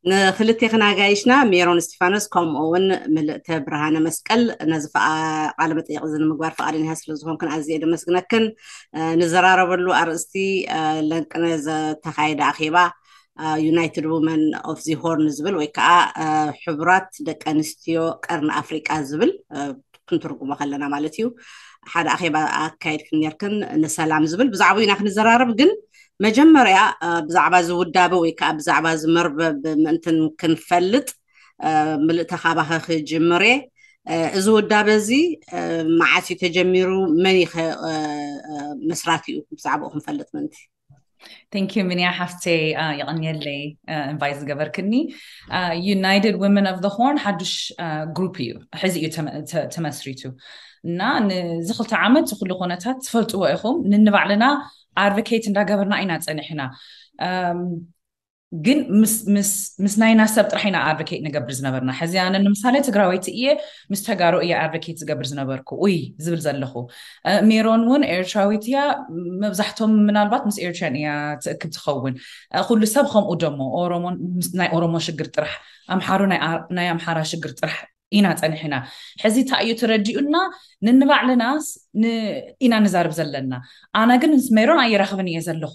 ንክልቴክን ኣጋይሽና ሜሮን እስቲፋኖስ ከምኡ እውን ምልእተ ብርሃነ መስቀል ነዚ ቃለ መጠይቅ እዚ ንምግባር ፍቃደኛ ስለ ዝኾንክን ኣዝየ ደመስግነክን። ንዘራረበሉ ኣርእስቲ ለንቅነ ዘተካየደ ኣኼባ United Women of the Horn ዝብል ወይ ከዓ ሕቡራት ደቂ ኣንስትዮ ቀርኒ ኣፍሪቃ ዝብል ክንትርጉሞ ከለና ማለት እዩ። ሓደ ኣኼባ ኣካየድክን ነርክን ንሰላም ዝብል ብዛዕባኡ ኢና ክንዘራረብ። ግን መጀመርያ ብዛዕባ ዝውዳበ ወይ ከዓ ብዛዕባ ዝመርበብ ምእንትን ክንፈልጥ ምልእተ ካባኸ ክጅምር እየ። እዚ ውዳበ እዚ መዓስ እዩ ተጀሚሩ? መን ይኸ መስራቲኡ? ብዛዕባኡ ክንፈልጥ ምእንቲ። Thank you ሚንያ ሓፍተይ፣ የቐንየለይ ኢንቫይት ዝገበርክኒ። United Women of the Horn ሓዱሽ ግሩፕ እዩ፣ ሕዚ እዩ ተመስሪቱ እና ንዚ ክልተ ዓመት ኩሉ ኩነታት ትፈልጥዎ ኢኹም። ንንባዕልና ኣድቮኬት እንዳገበርና ኢና ፀኒሕና። ግን ምስ ናይና ሰብ ጥራሕ ኢና ኣድቮኬት ንገብር ዝነበርና። ሕዚ ኣነ ንምሳሌ ትግራወይቲ እየ፣ ምስ ተጋሩ እየ ኣድቮኬት ዝገብር ዝነበርኩ። ኡይ ዝብል ዘለኹ፣ ሜሮን እውን ኤርትራዊት እያ። መብዛሕቶም ምናልባት ምስ ኤርትራን እያ ትእክብ ትኸውን። ኩሉ ሰብ ከምኡ ደሞ ናይ ኦሮሞ ሽግር ጥራሕ፣ ኣምሓሩ ናይ ኣምሓራ ሽግር ጥራሕ ኢና ፀኒሕና። ሕዚ እንታይ እዩ ተረዲኡና? ንንባዕልናስ ኢና ንዛርብ ዘለና። ኣነ ግን ምስ ሜሮን ኣይራኽብን እየ ዘለኹ፣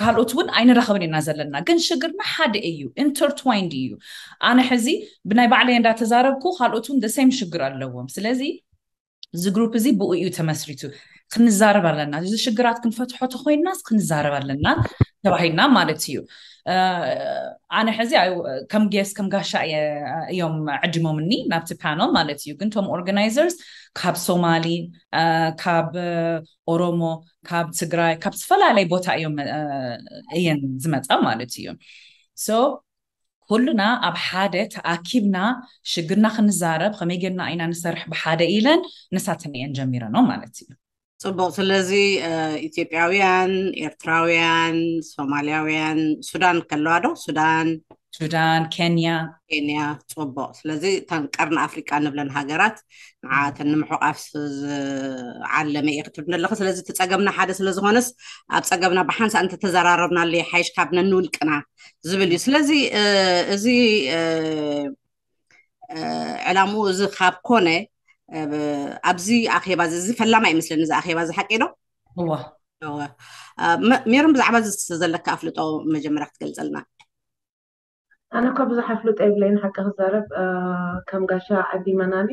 ካልኦት እውን ኣይንራኽብን ኢና ዘለና። ግን ሽግርና ሓደ እዩ፣ ኢንተርትዋይንድ እዩ። ኣነ ሕዚ ብናይ ባዕለይ እንዳተዛረብኩ ካልኦት እውን ደሴም ሽግር ኣለዎም። ስለዚ እዚ ግሩፕ እዚ ብኡ እዩ ተመስሪቱ። ክንዛረብ ኣለና፣ እዚ ሽግራት ክንፈትሖ ተኮይናስ ክንዛረብ ኣለና ተባሂልና ማለት እዩ። ኣነ ሕዚ ከም ጌስ ከም ጋሻ እዮም ዕድሞምኒ ናብቲ ፓነል ማለት እዩ። ግን ቶም ኦርጋናይዘርስ ካብ ሶማሊ፣ ካብ ኦሮሞ፣ ካብ ትግራይ፣ ካብ ዝተፈላለየ ቦታ እዮም እየን ዝመፃ ማለት እዩ። ሶ ኩሉና ኣብ ሓደ ተኣኪብና ሽግርና ክንዛረብ ከመይ ጌርና ኢና ንሰርሕ ብሓደ ኢለን ንሳተን እየን ጀሚረኖ ማለት እዩ። ፅቡቅ። ስለዚ ኢትዮጵያውያን፣ ኤርትራውያን፣ ሶማሊያውያን፣ ሱዳን ከለዋ ዶ? ሱዳን፣ ሱዳን፣ ኬንያ። ኬንያ። ፅቡቅ። ስለዚ እተን ቀርኒ ኣፍሪቃ ንብለን ሃገራት ንዓተን ንምሕቋፍ ዝዓለመ እየ ክትብል ኣለኹ። ስለዚ እቲ ፀገምና ሓደ ስለዝኾነስ ኣብ ፀገምና ብሓንሳእ እንተተዘራረብናሉ ይሓይሽ ካብ ነንውልቅና ዝብል እዩ። ስለዚ እዚ ዕላምኡ እዚ ካብ ኮነ ኣብዚ ኣኼባ እዚ ፈላማ ይመስለኒ። እዚ ኣኼባ እዚ ሓቂ ዶ? እዋ ሜሮን ብዛዕባ እዚ ዘለካ ኣፍልጦ መጀመርያ ክትገልፀልና። ኣነ እኮ ብዙሕ ኣፍልጦ የብለይን ሓቂ ክዛረብ። ከም ጋሻ ዓዲመናኒ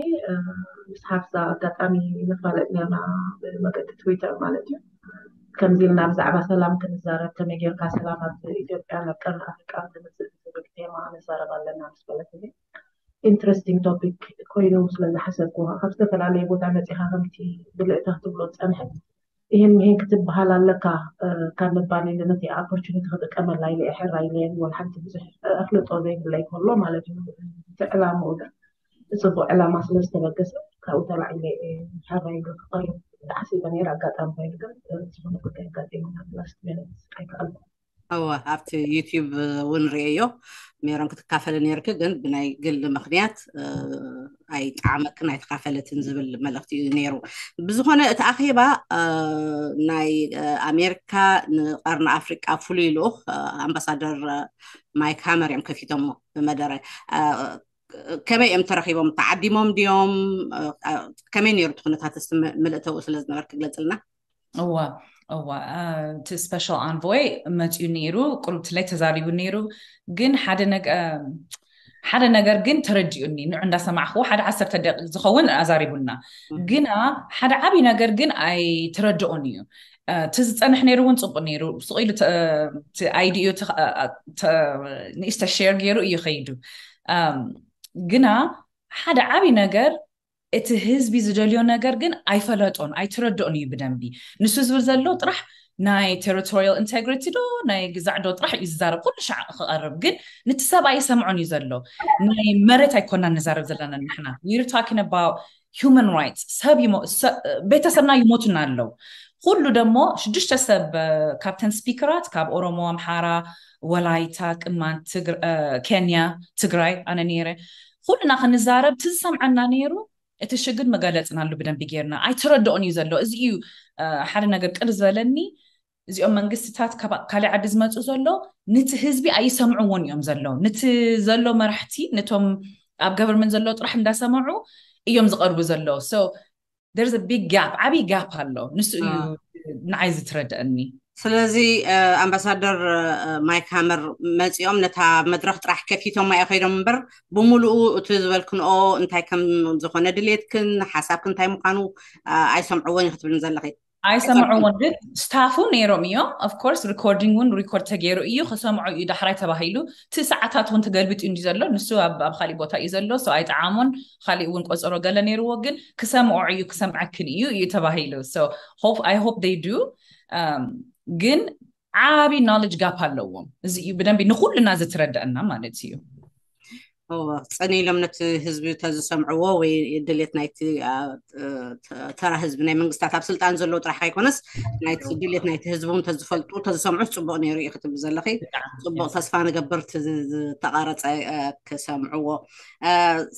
ምስ ሓፍዛ ኣጋጣሚ ንፋለጥ ነርና ብመገዲ ትዊተር ማለት እዩ። ከምዚ ኢልና ብዛዕባ ሰላም ክንዛረብ ከመይ ጌርካ ሰላም ኣብ ኢትዮጵያ ናብ ቀርኒ ኣፍሪቃ ንምፅእ ዝብል ቴማ ንዛረብ ኣለና ምስ በለት ኢንትረስቲንግ ቶፒክ ኮይኑ ስለዝሓሰብኩ ካብ ዝተፈላለየ ቦታ መፂኻ ከምቲ ብልእታ ክትብሎ ዝፀንሐት ይህን ምሂን ክትበሃል ኣለካ ካብ ምባል ኢለ ነቲ ኦፖርቹኒቲ ክጥቀመላ ኢለ እየ ሕራይ ኢለ ወላ ሓንቲ ብዙሕ ኣፍልጦ ዘይብለይ ከሎ ማለት እዩ። እቲ ዕላምኡ ግን ብፅቡቅ ዕላማ ስለ ዝተበገሰ ካብኡ ተላዒለ እየ ሕራይ ኢለ ክቐርብ ተሓሲበ ነይረ። ኣጋጣሚ ኮይኑ ግን ዝኾነ ጉዳይ ኣጋጢሙና ላስት ሚኒት ኣይከኣልኩ። እወ ኣብቲ ዩቲዩብ እውን ርእየዮ ሜሮን ክትካፈለ ነይርኪ ግን ብናይ ግል ምክንያት ኣይጠዓመክን ኣይተካፈለትን ዝብል መልእክቲ እዩ ነይሩ። ብዝኾነ እቲ ኣኼባ ናይ ኣሜሪካ ንቀርኒ ኣፍሪቃ ፍሉይ ልኡኽ ኣምባሳደር ማይክ ሃመር እዮም ከፊቶሞ ብመደረ ከመይ እዮም ተረኺቦም? ተዓዲሞም ድዮም? ከመይ ነይሩ እቲ ኩነታት? እስቲ ምልእተኡ ስለ ዝነበርክ ግለፅልና። እዋ እዋ እቲ ስፔሻል ኣንቮይ መፅኡ ነይሩ፣ ቁሩብ ትለይ ተዛሪቡ ነይሩ። ግን ሓደ ነገር ሓደ ነገር ግን ተረዲኡኒ። ንዑ እንዳሰማዕክዎ ሓደ ዓሰርተ ደቂቕ ዝኸውን ኣዛሪቡና። ግና ሓደ ዓብዪ ነገር ግን ኣይተረድኦን እዩ። እቲ ዝፀንሕ ነይሩ እውን ፅቡቅ ነይሩ። ስቕ ኢሉ ኣይዲኡ ንእሽተ ሼር ገይሩ እዩ ከይዱ። ግና ሓደ ዓብዪ ነገር እቲ ህዝቢ ዝደልዮ ነገር ግን ኣይፈለጦን ኣይተረድኦን እዩ ብደንቢ። ንሱ ዝብል ዘሎ ጥራሕ ናይ ቴሪቶሪያል ኢንቴግሪቲ ዶ ናይ ግዛዕ ዶ ጥራሕ እዩ ዝዛረብ ኩሉ ሻዕ ክቐርብ። ግን ንቲ ሰብ ኣይሰምዖን እዩ ዘሎ። ናይ መሬት ኣይኮናን ንዛረብ ዘለና ንሕና። We're talking about human rights። ሰብ ቤተሰብና ይሞቱና ኣለዉ። ኩሉ ደሞ ሽዱሽተ ሰብ ካብተን ስፒከራት ካብ ኦሮሞ፣ ኣምሓራ፣ ወላይታ፣ ቅማንት፣ ኬንያ፣ ትግራይ ኣነ ነይረ። ኩሉና ክንዛረብ እቲ ዝሰምዐና ነይሩ እቲ ሽግር መገለፅናሉ ብደንቢ ጌርና ኣይተረድኦን እዩ ዘሎ። እዚ እዩ ሓደ ነገር ቅር ዝበለኒ። እዚኦም መንግስትታት ካሊእ ዓዲ ዝመፁ ዘሎ ንቲ ህዝቢ ኣይሰምዕዎን እዮም ዘለዉ። ንቲ ዘሎ መራሕቲ፣ ነቶም ኣብ ገቨርንመንት ዘለዉ ጥራሕ እንዳሰምዑ እዮም ዝቐርቡ ዘለዉ። So there's a big gap፣ ዓብዪ ጋፕ ኣሎ። ንሱ እዩ ንዓይ ዝትረድአኒ። ስለዚ ኣምባሳደር ማይክ ሃመር መፂኦም ነታ መድረክ ጥራሕ ከፊቶም ማየ ከይዶም እምበር፣ ብምሉኡ እቲ ዝበልክንኦ እንታይ ከም ዝኾነ ድሌትክን ሓሳብክን እንታይ ምዃኑ ኣይሰምዕዎን እዩ ክትብልን ዘለኺ። ኣይሰምዕዎን፣ ግን ስታፉ ነይሮም እዮም። Of course recording እውን ሪኮርድ ተገይሩ እዩ፣ ክሰምዑ እዩ ዳሕራይ ተባሂሉ። እቲ ሰዓታት እውን ተገልቢጡ እንዲ ዘሎ፣ ንሱ ኣብ ካሊእ ቦታ እዩ ዘሎ። So ኣይጠዓሞን፣ ካሊእ እውን ቆፀሮ ገለ ነይርዎ፣ ግን ክሰምዖ እዩ፣ ክሰምዐክን እዩ እዩ ተባሂሉ። So I hope they do። ግን ዓብዪ knowledge gap ኣለዎም። እዚ እዩ ብደንቢ ንኩልና ዝተረደአና ማለት እዩ። ጸኒ ኢሎም ነቲ ህዝቢ ተዝሰምዕዎ ወይ ድሌት ናይቲ ተራ ህዝቢ፣ ናይ መንግስታት ኣብ ስልጣን ዘለዉ ጥራሕ ኣይኮነስ ናይቲ ድሌት ናይቲ ህዝቢ እውን ተዝፈልጡ ተዝሰምዑ ጽቡቕ ነይሩ እዩ ክትብል ዘለኺ። ጽቡቕ፣ ተስፋ ንገብር እቲ ዝተቓረጸ ክሰምዕዎ።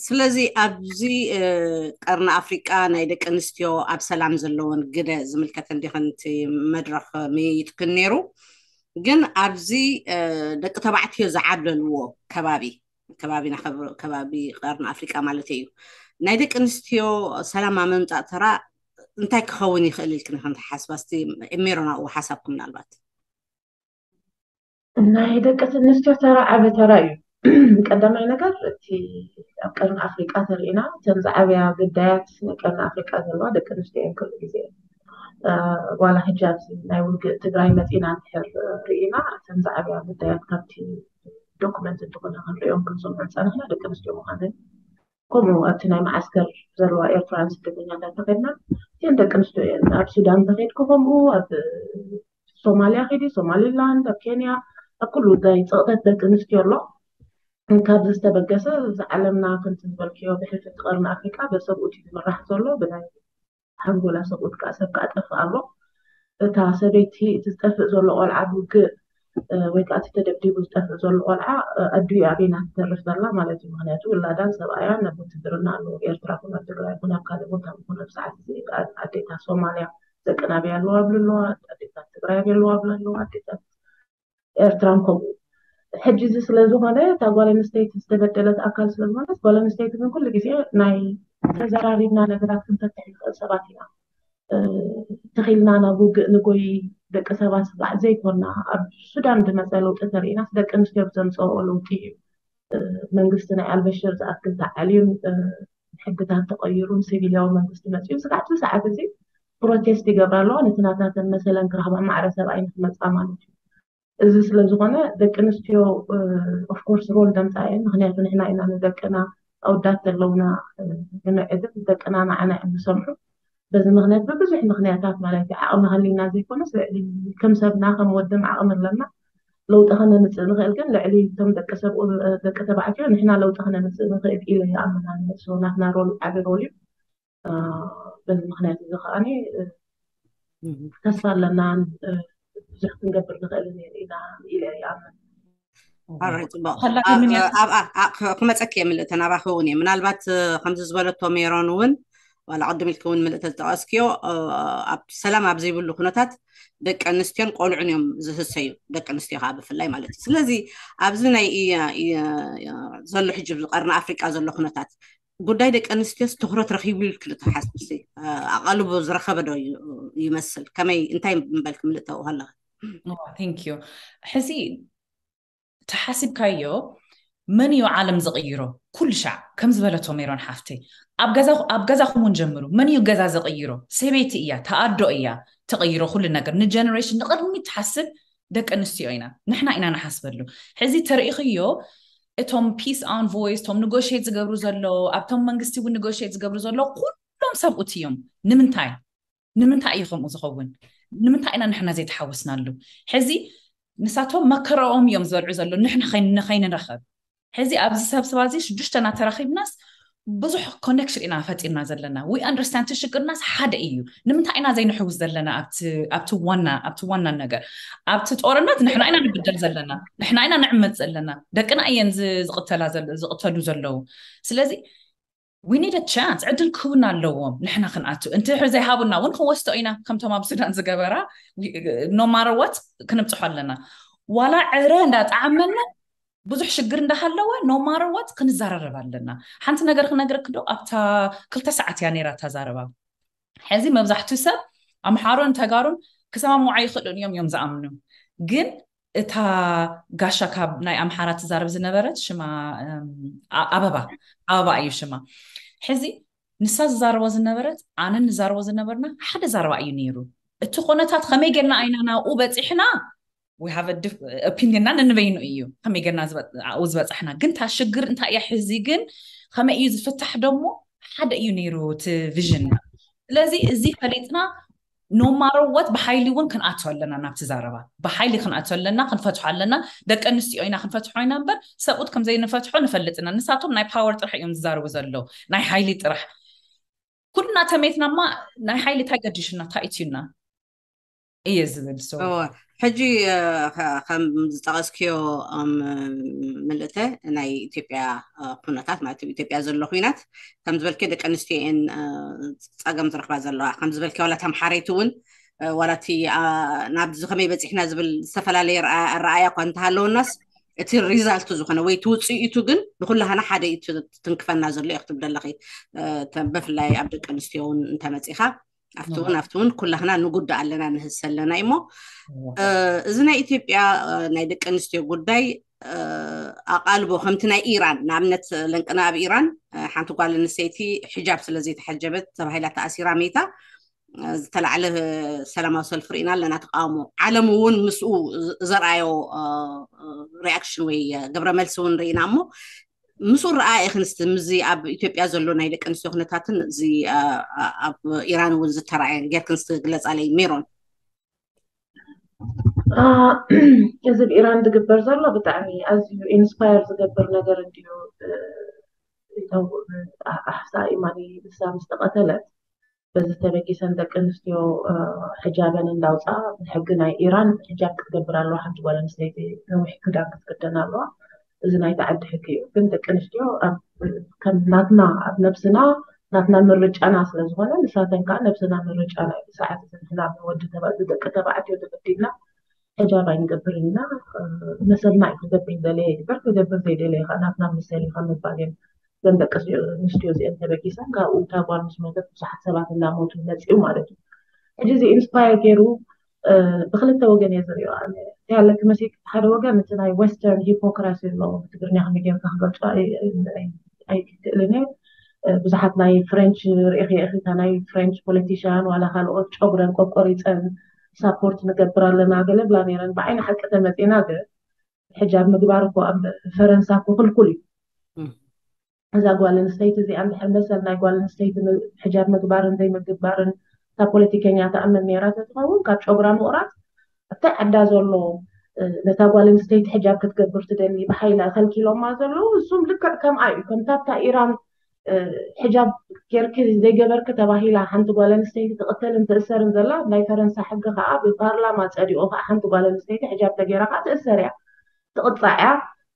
ስለዚ ኣብዚ ቀርኒ ኣፍሪቃ ናይ ደቂ ኣንስትዮ ኣብ ሰላም ዘለወን ግደ ዝምልከት እንዲኸን እቲ መድረኽ ምይይጥክን ነይሩ። ግን ኣብዚ ደቂ ተባዕትዮ ዝዓብለልዎ ከባቢ፣ ከባቢና ከባቢ ቀርኒ ኣፍሪቃ ማለት እዩ፣ ናይ ደቂ ኣንስትዮ ሰላም ኣብ ምምፃእ ተራ እንታይ ክኸውን ይኽእል ኢልክን ከም ትሓስባ? እስቲ ሜሮን ኣብኡ ሓሳብኩም ምናልባት። ናይ ደቂ ኣንስትዮ ተራ ዓቢ ተራ እዩ። ቀዳማይ ነገር እቲ ኣብ ቀርኒ ኣፍሪቃ ተሪእና እተን ዝዓበያ ግዳያት ናይ ቀርኒ ኣፍሪቃ ዘለዋ ደቂ ኣንስትዮ እየን ኩሉ ግዜ። ዋላ ሕጂ ኣብዚ ናይ ውግእ ትግራይ መፂና እንድሕር ርኢና እተን ዝዓበያ ግዳያት ካብቲ ዶክመንት እንተኾነ ክንሪኦም ክንሰምዖ ዝፀናሕና ደቂ ኣንስትዮ ምዃነን፣ ከምኡ ኣብቲ ናይ መዓስከር ዘለዋ ኤርትራውያን ስደተኛታት እንተኸድና እተን ደቂ ኣንስትዮ እየን። ኣብ ሱዳን እንተኸድኩ ከምኡ፣ ኣብ ሶማልያ ኸይዲ፣ ሶማሊላንድ፣ ኣብ ኬንያ፣ ኣብ ኩሉ ናይ ፀቕጠት ደቂ ኣንስትዮ ኣሎ። ካብዚ ዝተበገሰ እዚ ዓለምና ከምቲ ዝበልክዮ ብሕልፊ እቲ ቀርኒ ኣፍሪቃ በሰብኡት እዩ ዝምራሕ ዘሎ። ብናይ ሓንጎላ ሰብኡት ከዓ ሰብ ከዓ ጠፍእ ኣሎ። እታ ሰበይቲ እቲ ዝጠፍእ ዘሎ ቆልዓ ብውግእ ወይ ከዓ እቲ ተደብዲቡ ዝጠፍእ ዘሎ ቆልዓ ኣዲኡ ኣበይና ትተርፍ ዘላ ማለት እዩ። ምክንያቱ ውላዳን ሰብኣያን ኣብ ውትድርና ኣለዉ። ኤርትራ ኩን ኣብ ትግራይ ኩን ኣብ ካልእ ቦታ ኩን ኣብ ሰዓት እዚ ኣዴታት ሶማልያ ደቅና ኣበይ ኣለዋ ብለለዋ፣ ኣዴታት ትግራይ ኣበይ ኣለዋ ብለለዋ፣ ኣዴታት ኤርትራን ከምኡ። ሕጂ እዚ ስለዝኾነ እታ ጓል ኣንስተይቲ ዝተበደለት ኣካል ስለዝኾነት ጓል ኣንስተይቲ ግን ኩሉ ግዜ ናይ ተዘራሪብና ነገራት ክንፈትሕ ንኽእል ሰባት ኢና። ተኺልና ናብ ውግእ ንጎይ ደቂ ሰባት ስራሕ ዘይኮና ኣብ ሱዳን ዝመፀ ለውጢ ተሪእናስ ደቂ ኣንስትዮ ብዘምፀኦ ለውጢ እዩ። መንግስቲ ናይ ኣልበሽር ዝኣክል ተዓልዩን ሕግታት ተቐይሩን ሲቪልያዊ መንግስቲ መፅኡ ስጋዕ እቲ ሰዓት እዚ ፕሮቴስት ይገብራ ኣለዋ። ነቲ ናታተን መሰለን ክረኽባ ማዕረ ሰብኣይ ንክመፃ ማለት እዩ። እዚ ስለዝኾነ ደቂ ኣንስትዮ ኦፍኮርስ ሮል ደምፃ እየን። ምክንያቱ ንሕና ኢና ንደቅና ኣውዳት ዘለውና ንምዕድም ደቅና ንዓና እዮም ዝሰምዑ። በዚ ምክንያት ብብዙሕ ምክንያታት ማለት እዩ ዓቕሚ ሃልዩና ዘይኮነስ ልዕሊ ከም ሰብና ከም ወድም ዓቕሚ ኣለና ለውጢ ከነምፅእ ንኽእል ግን ልዕሊ እቶም ደቂ ሰብ ደቂ ተባዕትዮ ንሕና ለውጢ ከነምፅእ ንኽእል ኢለ ይኣምን። ኣነ ናትና ሮል ዓቢ ሮል እዩ። በዚ ምክንያት እዚ ከዓ ተስፋ ኣለናን ብዙሕ ክንገብር ንኽእል ኢና ኢለ ይኣምን። ኣራይ ፅቡቅ። ክመፀኪ እየ ምልእተ ናባኺ እውን እየ። ምናልባት ከምዚ ዝበለቶ ሜሮን እውን ዋላ ቅድም ኢልኪ እውን ምልእተ ዝጠቀስክዮ ኣብ ሰላም ኣብ ዘይብሉ ኩነታት ደቂ ኣንስትዮን ቆልዑን እዮም ዝህሰዩ፣ ደቂ ኣንስትዮ ከዓ ብፍላይ ማለት እዩ። ስለዚ ኣብዚ ናይ ዘሎ ሕጂ ቀርኒ ኣፍሪቃ ዘሎ ኩነታት ጉዳይ ደቂ ኣንስትዮስ ትኩረት ረኪቡ ኢልኪ ዶ ትሓስቢ? ኣቓልቦ ዝረኸበ ዶ ይመስል? ከመይ እንታይ ምበልኪ ምልእተ ኣለኺ? Thank you። ሕዚ ተሓሲብካዮ መን እዩ ዓለም ዝቕይሮ? ኩሉ ሻዕ ከም ዝበለቶ ሜሮን ሓፍተይ ኣብ ገዛኹም እውን ጀምሩ። መን እዩ ገዛ ዘቕይሮ? ሰበይቲ እያ፣ ተኣዶ እያ ተቐይሮ ኩሉ ነገር። ንጀነሬሽን ንቕድሚት ትሓስብ ደቂ ኣንስትዮ ኢና፣ ንሕና ኢና ንሓስበሉ። ሕዚ ተርእኽዮ እቶም ፒስ ኣንቮይስ፣ እቶም ንጎሽት ዝገብሩ ዘሎ፣ ኣብቶም መንግስቲ እውን ንጎሽት ዝገብሩ ዘሎ ኩሎም ሰብኡት እዮም። ንምንታይ? ንምንታይ እዩ ከምኡ ዝኸውን? ንምንታይ ኢና ንሕና ዘይተሓወስናሉ? ሕዚ ንሳቶም መከረኦም እዮም ዝበልዑ ዘሎ ንሕና ከይንረኸብ። ሕዚ ኣብዚ ሰብ ስባ እዚ ሽዱሽተና ተራኺብናስ ብዙሕ ኮኔክሽን ኢና ፈጢርና ዘለና። We understand እቲ ሽግርናስ ሓደ እዩ። ንምንታይ ኢና ዘይንሕውስ ዘለና ኣብቲ ዋና ነገር? ኣብቲ ጦርነት ንሕና ኢና ንብደል ዘለና፣ ንሕና ኢና ንዕመፅ ዘለና። ደቅና እየን ዝቕተሉ ዘለዉ። ስለዚ we need a chance ዕድል ክህቡና ኣለዎም። ንሕና ክንኣቱ እንተ ዘይሃቡና እውን ክንወስዶ ኢና። ከምቶም ኣብ ሱዳን ዝገበራ no matter what ክንብፅሖ ኣለና። ዋላ ዕረ እንዳጣዓመና ብዙሕ ሽግር እንዳሃለወ no matter what ክንዘራረብ ኣለና። ሓንቲ ነገር ክነግረክ ዶ ኣብታ ክልተ ሰዓት እያ ነይራ እታ ዛረባ። ሕዚ መብዛሕትኡ ሰብ ኣምሓሮን ተጋሩን ክሰማምዑ ኣይኽእሉን እዮም እዮም ዝኣምኑ። ግን እታ ጋሻ ካብ ናይ ኣምሓራ ትዛረብ ዝነበረት ሽማ ኣበባ ኣበባ እዩ ሽማ። ሕዚ ንሳ ዝዛረቦ ዝነበረት ኣነ ንዛረቦ ዝነበርና ሓደ ዛረባ እዩ ነይሩ። እቲ ኮነታት ከመይ ጌርና ኣይና ናብኡ በፂሕና opinionና ነንበይኑ እዩ ከመይ ጌርና ዝበፃሕና። ግን እታ ሽግር እንታይ እያ ሕዚ ግን ከመይ እዩ ዝፍታሕ ደሞ ሓደ እዩ ነይሩ እቲ visionና። ስለዚ እዚ ፈሊጥና no matter what ብሓይሊ እውን ክንኣቶ ኣለና ናብቲ ዛረባ። ብሓይሊ ክንኣቶ ኣለና፣ ክንፈትሖ ኣለና። ደቂ ኣንስትዮ ኢና ክንፈትሖ ኢና እምበር ሰብኡት ከም ዘይንፈትሖ ንፈልጥ ኢና። ንሳቶም ናይ power ጥራሕ እዮም ዝዛረቡ ዘለዉ፣ ናይ ሓይሊ ጥራሕ። ኩልና ተሜትናማ ናይ ሓይሊ እንታይ ገዲሹና እንታይ እትዩና እየ ዝብል። ሕጂ ከም ዝጠቐስክዮ ምልእተ ናይ ኢትዮጵያ ኩነታት ማለት ኢትዮጵያ ዘሎ ኩናት ከም ዝበልክዮ ደቂ ኣንስትዮ እየን ፀገም ዝረኽባ ዘለዋ ከም ዝበልክዮ ዋላ ተምሓረይቲ እውን ዋላ እቲ ናብዚ ከመይ በፂሕና ዝብል ዝተፈላለየ ኣረኣያ እኳ እንተሃለወናስ እቲ result ዝኾነ ወይ እቲ ውፅኢቱ ግን ንኩላህና ሓደ እዩ ትንክፈና ዘሎ እዩ ክትብል ዘለኺ። ብፍላይ ኣብ ደቂ ኣንስትዮ እውን እንተመፂኻ ኣብቲ እውን ኣብቲ እውን ኩላህና ንጉዳእ ኣለና ንህሰ ኣለና እሞ እዚ ናይ ኢትዮጵያ ናይ ደቂ ኣንስትዮ ጉዳይ ኣቓልቦ ከምቲ ናይ ኢራን ንኣብነት ለንቅና ኣብ ኢራን ሓንቲ ጓል ኣንስተይቲ ሕጃብ ስለ ዘይተሓጀበት ተባሂላ ተኣሲራ መይታ ዝተላዕለ ሰላማዊ ሰልፊ ርኢና ኣለና ተቃውሞ። ዓለም እውን ምስኡ ዘርኣዮ reaction ወይ ግብረ መልሲ እውን ርኢና እሞ ምስኡ ረኣ ኢኽንስቲ ምዚ ኣብ ኢትዮጵያ ዘሎ ናይ ደቂ ኣንስትዮ ኩነታትን እዚ ኣብ ኢራን እውን ዝተራእየ ጌርክንስቲ ግለፃለይ ሜሮን። እዚ ብኢራን ዝግበር ዘሎ ብጣዕሚ ኣዝዩ inspire ዝገብር ነገር እንድዩ። ኣሕሳ ኢማኒ ንሳ ምስ ተቐተለት በዚ ተበጊሰን ደቂ ኣንስትዮ ሕጃበን እንዳውፃ ብሕጊ ናይ ኢራን ሕጃብ ክትገብር ኣለዋ። ሓንቲ ጓል ኣንስተይቲ ነዊሕ ክዳን ክትክደን ኣለዋ። እዚ ናይቲ ዓዲ ሕጊ እዩ። ግን ደቂ ኣንስትዮ ከም ናትና ኣብ ነብስና ናትና ምርጫና ስለዝኾነ ንሳተን ከዓ ነብስና ምርጫና እዩ። ሰዓት እዚ ንሕና ወዲ ተባ- ደቂ ተባዕትዮ ተገዲድና ሕጃብ ኣይንገብርን ኢና። መሰልና እዩ። ክገብር ዝደለየ ይግበር፣ ክገብር ዘይደለየ ከዓ ናትና መሰል እዩ ካብ ምባል እዮም እዘን ደቂ ኣንስትዮ እዚአን ተበጊሰን ካብኡ እታ ጓል ምስ ሞተት ብዙሓት ሰባት እናሞቱ መፅኡ ማለት እዩ። ሕጂ እዚ inspire ገይሩ ብክልተ ወገን እየ ዝሪኦ። ኣነ እንታይ ኣለኪ መሲልኪ ሓደ ወገን እቲ ናይ western hypocrisy ኣሎ ብትግርኛ ከመይ ገይርካ ክገልፆ ኣይክእልን እየ። ብዙሓት ናይ French ርኢኺ ኢኺ እታ ናይ French politician ዋላ ካልኦት ጨጉረን ቆቆሪፀን support ንገብር ኣለና ገለ ብላ ነይረን። ብዓይኒ ሓቂ ተመፂና ግን ሕጃብ ምግባር እኮ ኣብ ፈረንሳ እኮ ክልኩል እዩ። እዛ ጓል ኣንስተይቲ እዚኣ እንድሕር መሰል ናይ ጓል ኣንስተይቲ ሕጃብ ምግባርን ዘይምግባርን እታ ፖለቲከኛ ትኣምን ነይራ ተትኸውን ካብ ጨጉራ ምቑራፅ ኣብቲ ዓዳ ዘሎ ነታ ጓል ኣንስተይቲ ሕጃብ ክትገብር ትደሊ ብሓይላ ከልኪሎማ ዘለዉ እሱም ልክዕ ከምኣ እዩ። ከምታ ኣብታ ኢራን ሕጃብ ጌርኪ ዘይገበርኪ ተባሂላ ሓንቲ ጓል ኣንስተይቲ ትቕተልን ትእሰርን ዘላ ናይ ፈረንሳ ሕጊ ከዓ ብፓርላማ ፀዲቑ ከዓ ሓንቲ ጓል ኣንስተይቲ ሕጃብ ተገይራ ከዓ ትእሰር እያ ትቕፃዕ እያ።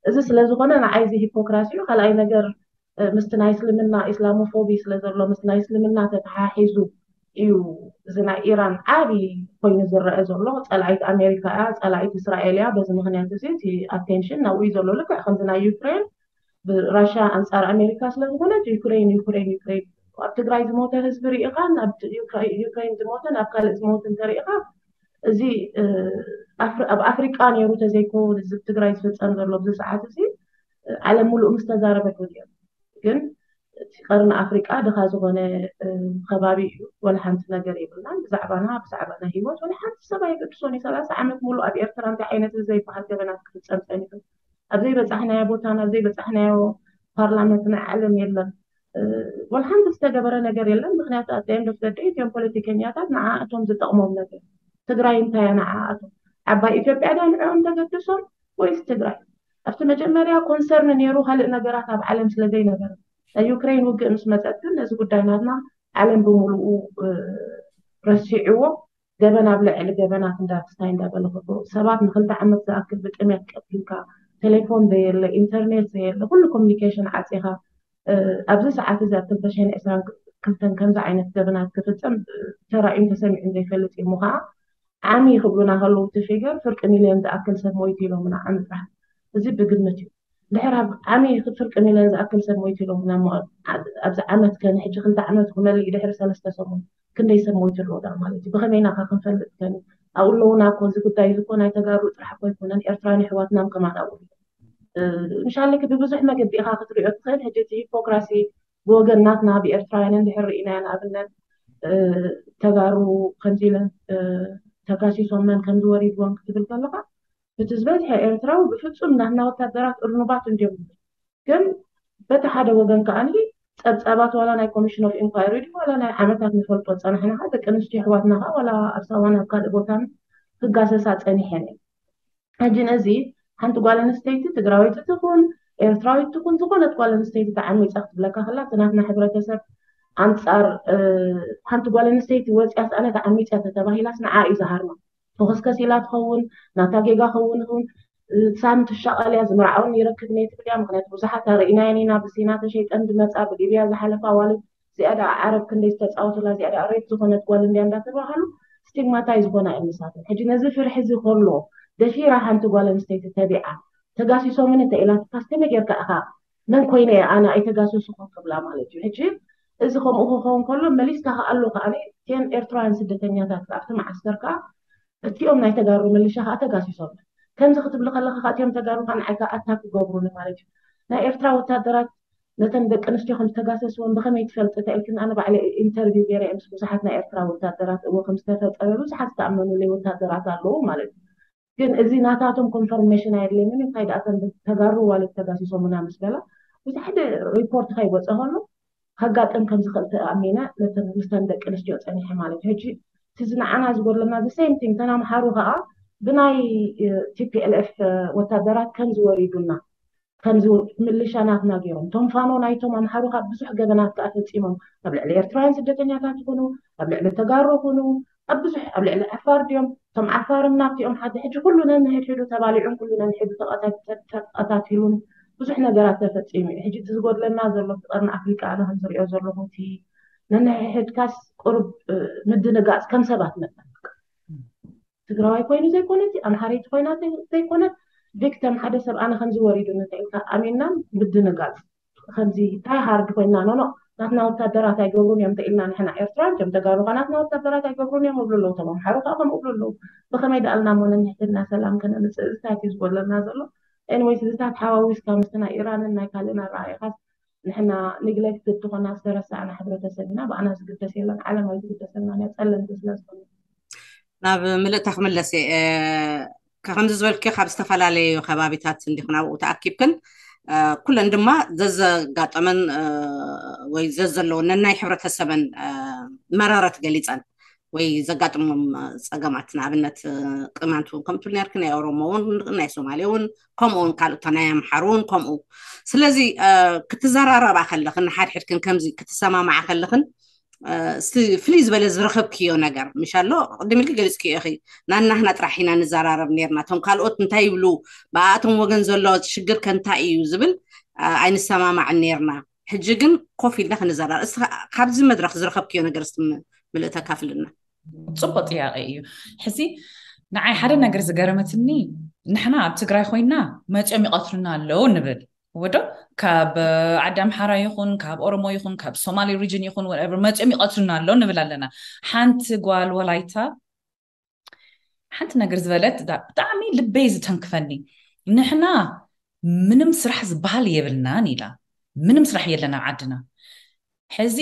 እዚ ስለዝኾነ ንዓይ እዚ ሂፖክራሲ እዩ። ካልኣይ ነገር ምስቲ ናይ እስልምና ኢስላሞፎቢ ስለዘሎ ምስ ናይ እስልምና ተተሓሒዙ እዩ እዚ ናይ ኢራን ዓብዪ ኮይኑ ዝረአ ዘሎ። ፀላኢት ኣሜሪካ እያ፣ ፀላኢት እስራኤል እያ። በዚ ምክንያት እዚ እቲ ኣቴንሽን ናብኡ እዩ ዘሎ። ልክዕ ከምዚ ናይ ዩክሬን ብራሽያ ኣንፃር ኣሜሪካ ስለዝኾነት ዩክሬን ዩክሬን ዩክሬን ኣብ ትግራይ ዝሞተ ህዝቢ ርኢኻ ናብ ዩክሬን ዝሞተ ናብ ካልእ ዝሞት እንተርኢኻ እዚ ኣብ ኣፍሪቃ ነይሩ ተዘይኮ እዚ ትግራይ ዝፍፀም ዘሎ ኣብዚ ሰዓት እዚ ዓለም ሙሉእ ምስ ተዛረበ ግን ግን እቲ ቀርኒ ኣፍሪቃ ድኻ ዝኾነ ከባቢ እዩ። ወላ ሓንቲ ነገር የብልናን ብዛዕባና ብዛዕባ ናይ ሂወት ወላ ሓንቲ ሰብ ኣይገድሶን እዩ። ሰላሳ ዓመት ሙሉእ ኣብ ኤርትራ እንታይ ዓይነት ዘይበሃል ገበናት ክፍፀም ፀኒሑ ኣብ ዘይበፃሕናዮ ቦታን ኣብ ዘይበፃሕናዮ ፓርላመንት ናይ ዓለም የለን። ወላ ሓንቲ ዝተገበረ ነገር የለን። ምክንያቱ ኣጠየም ዶክተር ደይ እትዮም ፖለቲከኛታት ንዓኣቶም ዝጠቕሞም ነገር ትግራይ እንታይ እያ ንዓኣቶም ዓባይ ኢትዮጵያ ዳ ንዕኦም ተገድሶም ወይስ ትግራይ ኣብቲ መጀመርያ ኮንሰርን ነይሩ ካልእ ነገራት ኣብ ዓለም ስለ ዘይነበረ ናይ ዩክሬን ውግእ ምስ መፀት ግን ነዚ ጉዳይ ናትና ዓለም ብምሉኡ ረሲዕዎ ገበን ኣብ ልዕሊ ገበናት እንዳፍስታይ እንዳበለ ከሎ ሰባት ንክልተ ዓመት ዝኣክል ብጥሜት ቀቲልካ ቴሌፎን ዘየለ ኢንተርኔት ዘየለ ኩሉ ኮሚኒኬሽን ዓፂኻ ኣብዚ ሰዓት እዚ ኣብ ክልተ ሽሕን ዕስራን ክልተን ከምዚ ዓይነት ገበናት ክፍፀም ተራእዩን ተሰሚዑን ዘይፈልጥ እዩ። እሞ ከዓ ዓሚ ክብሉና ከለዉ እቲ ፊገር ፍርቂ ሚልዮን ዝኣክል ሰብ ሞይቱ ኢሎምና ዓሚ ጥራሕ። እዚ ብግምት እዩ። ድሕር ኣብ ዓሚ ፍርቂ ሚልዮን ዝኣክል ሰብ ሞይቱ ኢሎምና። ኣብዚ ዓመት ከ ንሕጂ ክልተ ዓመት ክመልእ ድሕሪ ሰለስተ ሰሙን ክንደይ ሰብ ሞይቱ ኣለዉ ዳ ማለት እዩ? ብኸመይ ኢና ከ ክንፈልጥ ከን ኣብኡ ኣለዉና እኮ። እዚ ጉዳይ እዚ እኮ ናይ ተጋሩ ጥራሕ እኮ ኣይኮነን፣ ኤርትራን ኣሕዋትናም ከማን ኣብኡ። ምሻለክ ብብዙሕ መገዲ ኢኻ ክትሪኦ ትኽእል። ሕጂ እቲ ሂፖክራሲ ብወገን ናትና ብኤርትራውያን እንድሕር ርኢናዮ፣ ንኣብነት ተጋሩ ከምዚ ኢለን ተጋሲሶመን ከምዚ ወሪድዎም ክትብል ከለኻ፣ እቲ ዝበዝሐ ኤርትራዊ ብፍጹም ናትና ወታደራት እርኑባት እንድዮም። ግን በቲ ሓደ ወገን ከኣ ጸብጻባት ዋላ ናይ ኮሚሽን ኦፍ ኢንኳይሪ ድዩ ዋላ ናይ ዓመታት ንፈልጦ ጸናሕና፣ ደቂ ኣንስትዮ ኣሕዋትና ከኣ ዋላ ኣብ ሳዋን ኣብ ካልእ ቦታን ክጋሰሳ ጸኒሐን እየን። ሕጂ ነዚ ሓንቲ ጓል ኣንስተይቲ ትግራወይቲ ትኹን ኤርትራዊት ትኹን ዝኾነት ጓል ኣንስተይቲ ተዓሚፃ ክትብለካ ከላ፣ እቲ ናትና ሕብረተሰብ ኣንፃር ሓንቲ ጓል ኣንስተይቲ ወፅያስ ኣነ ተዓሚፀ ተተባሂላስ ንዓ እዩ ዝሃርማ። ተኸስከስ ኢላ ትኸውን፣ ናታ ጌጋ ኸውን ይኹን ሳም ትሻቐል እያ። ዝምርዓውን ይረክብ ነይ ትብል እያ። ምክንያቱ ብዙሓት ኣርእናየን ኢና፣ ብሲና ተሸይጠን ዝመፃ፣ ብሊብያ ዝሓለፋ ዋልት እዚኣ ደኣ ዓረብ ክንደይ ዝተፃወቱላ፣ እዚኣ ደኣ ሬት ዝኾነት ጓል እንድያ እንዳተባሃሉ ስቲግማታይ ዝኾና እየን ንሳተን። ሕጂ ነዚ ፍርሒ እዚ ከሎ ደፊራ ሓንቲ ጓል ኣንስተይቲ ተቢዓ ተጋሲሶምን እንተ ኢላትካስ ከመይ ጌርካ ኢኻ መን ኮይነ እየ ኣነ ኣይተጋሰስኹን ክብላ ማለት እዩ። ሕጂ እዚ ከምኡ ክኸውን ከሎ መሊስካ ከኣ ኣሎ ከኣ እቲአን ኤርትራውያን ስደተኛታት ኣብቲ መዓስከር ከኣ እቲኦም ናይ ተጋሩ ምልሻ ከኣ ተጋሲሶም። ከምዚ ክትብሊ ከለኻ ከኣ እቲኦም ተጋሩ ከኣ ንዓይ ከኣ ኣታክ ክገብሩኒ ማለት እዩ። ናይ ኤርትራ ወታደራት ነተን ደቂ ኣንስትዮ ከም ዝተጋሰስወን ብኸመይ ትፈልጥ ተኢልክን፣ ኣነ ባዕለ ኢንተርቪው ገይረ ምስ ብዙሓት ናይ ኤርትራ ወታደራት እዎ ከም ዝተፈጠረ ብዙሓት ዝተኣመኑለይ ወታደራት ኣለዉ ማለት እዩ። ግን እዚ ናታቶም ኮንፈርሜሽን ኣየድልየንን እዩ። እንታይ ደኣ ተን ተጋሩ ዋልት ተጋሲሶሙና ምስ በላ ብዙሕ ሓደ ሪፖርት ከይወፀ ከሎ ከጋጥም ከም ዝኽእል ተኣሚነ ነተን ምስተን ደቂ ኣንስትዮ ፀኒሐ ማለት እዩ። ሕጂ እቲ ዝንዓና ዝጎድለና the same thing ተን ኣምሓሩ ከዓ ብናይ ቲፒኤልኤፍ ወታደራት ከም ዝወሪዱና ከምዚ ምልሻ ናትና ገይሮም ቶም ፋኖ ናይቶም ኣምሓሩ ካብ ብዙሕ ገበናት ከዓ ፈፂሞም ኣብ ልዕሊ ኤርትራውያን ስደተኛታት ይኹኑ ኣብ ልዕሊ ተጋሩ ይኹኑ ኣብ ብዙሕ ኣብ ልዕሊ ዓፋር ድዮም እቶም ዓፋርም ናብቲኦም ሓደ ሕጂ ኩሉ ነንሕድሕዱ ተባሊዑን ኩሉ ነንሕዱ ተቐታቲሉን ብዙሕ ነገራት ተፈፂሙ እዩ። ሕጂ እቲ ዝጎድለና ዘሎ እቲ ቀርኒ ኣፍሪቃ ኣነ ከም ዝሪኦ ዘለኹ እቲ ነንሕድሕድካስ ቁሩብ ምድንጋፅ ከም ሰባት መጠን ትግራዋይ ኮይኑ ዘይኮነት ኣምሓረይቲ ኮይና ዘይኮነት ቪክተም ሓደ ሰብ ኣነ ከምዚ ወሪዱ ንተኢልካ ኣሚንና ምድንጋፅ ከምዚ እንታይ ሃርድ ኮይና ኖኖ ናትና ወታደራት ኣይገብሩን እዮም ተኢልና ንሕና ኤርትራን ከም ተጋሩ ከ ናትና ወታደራት ኣይገብሩን እዮም እብሉ ኣለዉ። ተም ኣምሓሩ ከዓ ከምኡ እብሉ ኣለዉ። ብከመይ ደኣልና እሞ ነንሕድሕድና ሰላም ከነምፅእ እዚታት እዩ ዝጎድለና ዘሎ። ኤንወይስ እዚታት ሓዋዊስካ ምስቲ ናይ ኢራንን ናይ ካልእን ኣረኣኢኻስ ንሕና ኒግሌክትድ ዝኾና ዝተረሳዕና ሕብረተሰብ ኢና። ብኣና ዝግደስ የለን፣ ዓለም ኣይትግደሰልናን እያ፣ ጸለምቲ ስለ ዝኾነ። ናብ ምልእታ ክምለስ እየ። ከምዚ ዝበልክዮ ካብ ዝተፈላለዩ ከባቢታት እንዲኹን ኣብኡ ተኣኪብክን ኩለን ድማ ዘዘጋጠመን ወይ ዘዘለወን ነናይ ሕብረተሰበን መረረት ገሊፀን ወይ ዘጋጥሞም ፀገማት ንኣብነት ቅማንት እውን ከምትብል ነርክ ናይ ኦሮሞ እውን ናይ ሶማሌ እውን ከምኡ እውን ካልኦታ ናይ ኣምሓሩ እውን ከምኡ ስለዚ ክትዘራረባ ከለኽን ንሓድሕድክን ከምዚ ክትሰማማዓ ከለኽን ፍልይ ዝበለ ዝረኸብክዮ ነገር ምሽ ኣሎ ቅድም ኢልክ ገሊፅክዮ ኢኺ ናናህና ጥራሕ ኢና ንዘራረብ ነርና እቶም ካልኦት እንታይ ይብሉ ብኣቶም ወገን ዘሎ ሽግር ከ እንታይ እዩ ዝብል ኣይንሰማማዕን ነርና ሕጂ ግን ኮፍ ኢልና ክንዘራረብ እስቲ ካብዚ መድረክ ዝረኸብክዮ ነገር እስቲ ምልእተ ካፍልና ፅቡቅ ጥያቄ እዩ ሕዚ ንዓይ ሓደ ነገር ዝገረመትኒ ንሕና ኣብ ትግራይ ኮይና መፅኦም ይቀትሉና ኣለዉ ንብል ወዶ ካብ ዓዲ ኣምሓራ ይኹን ካብ ኦሮሞ ይኹን ካብ ሶማሊ ሪጅን ይኹን ወቨር መፅኦም ይቀትሉና ኣለዉ ንብል ኣለና ሓንቲ ጓል ወላይታ ሓንቲ ነገር ዝበለት ብጣዕሚ ልበይ ዝተንክፈኒ ንሕና ምንም ስራሕ ዝበሃል የብልናን ኢላ ምንም ስራሕ የለን ኣብ ዓድና ሕዚ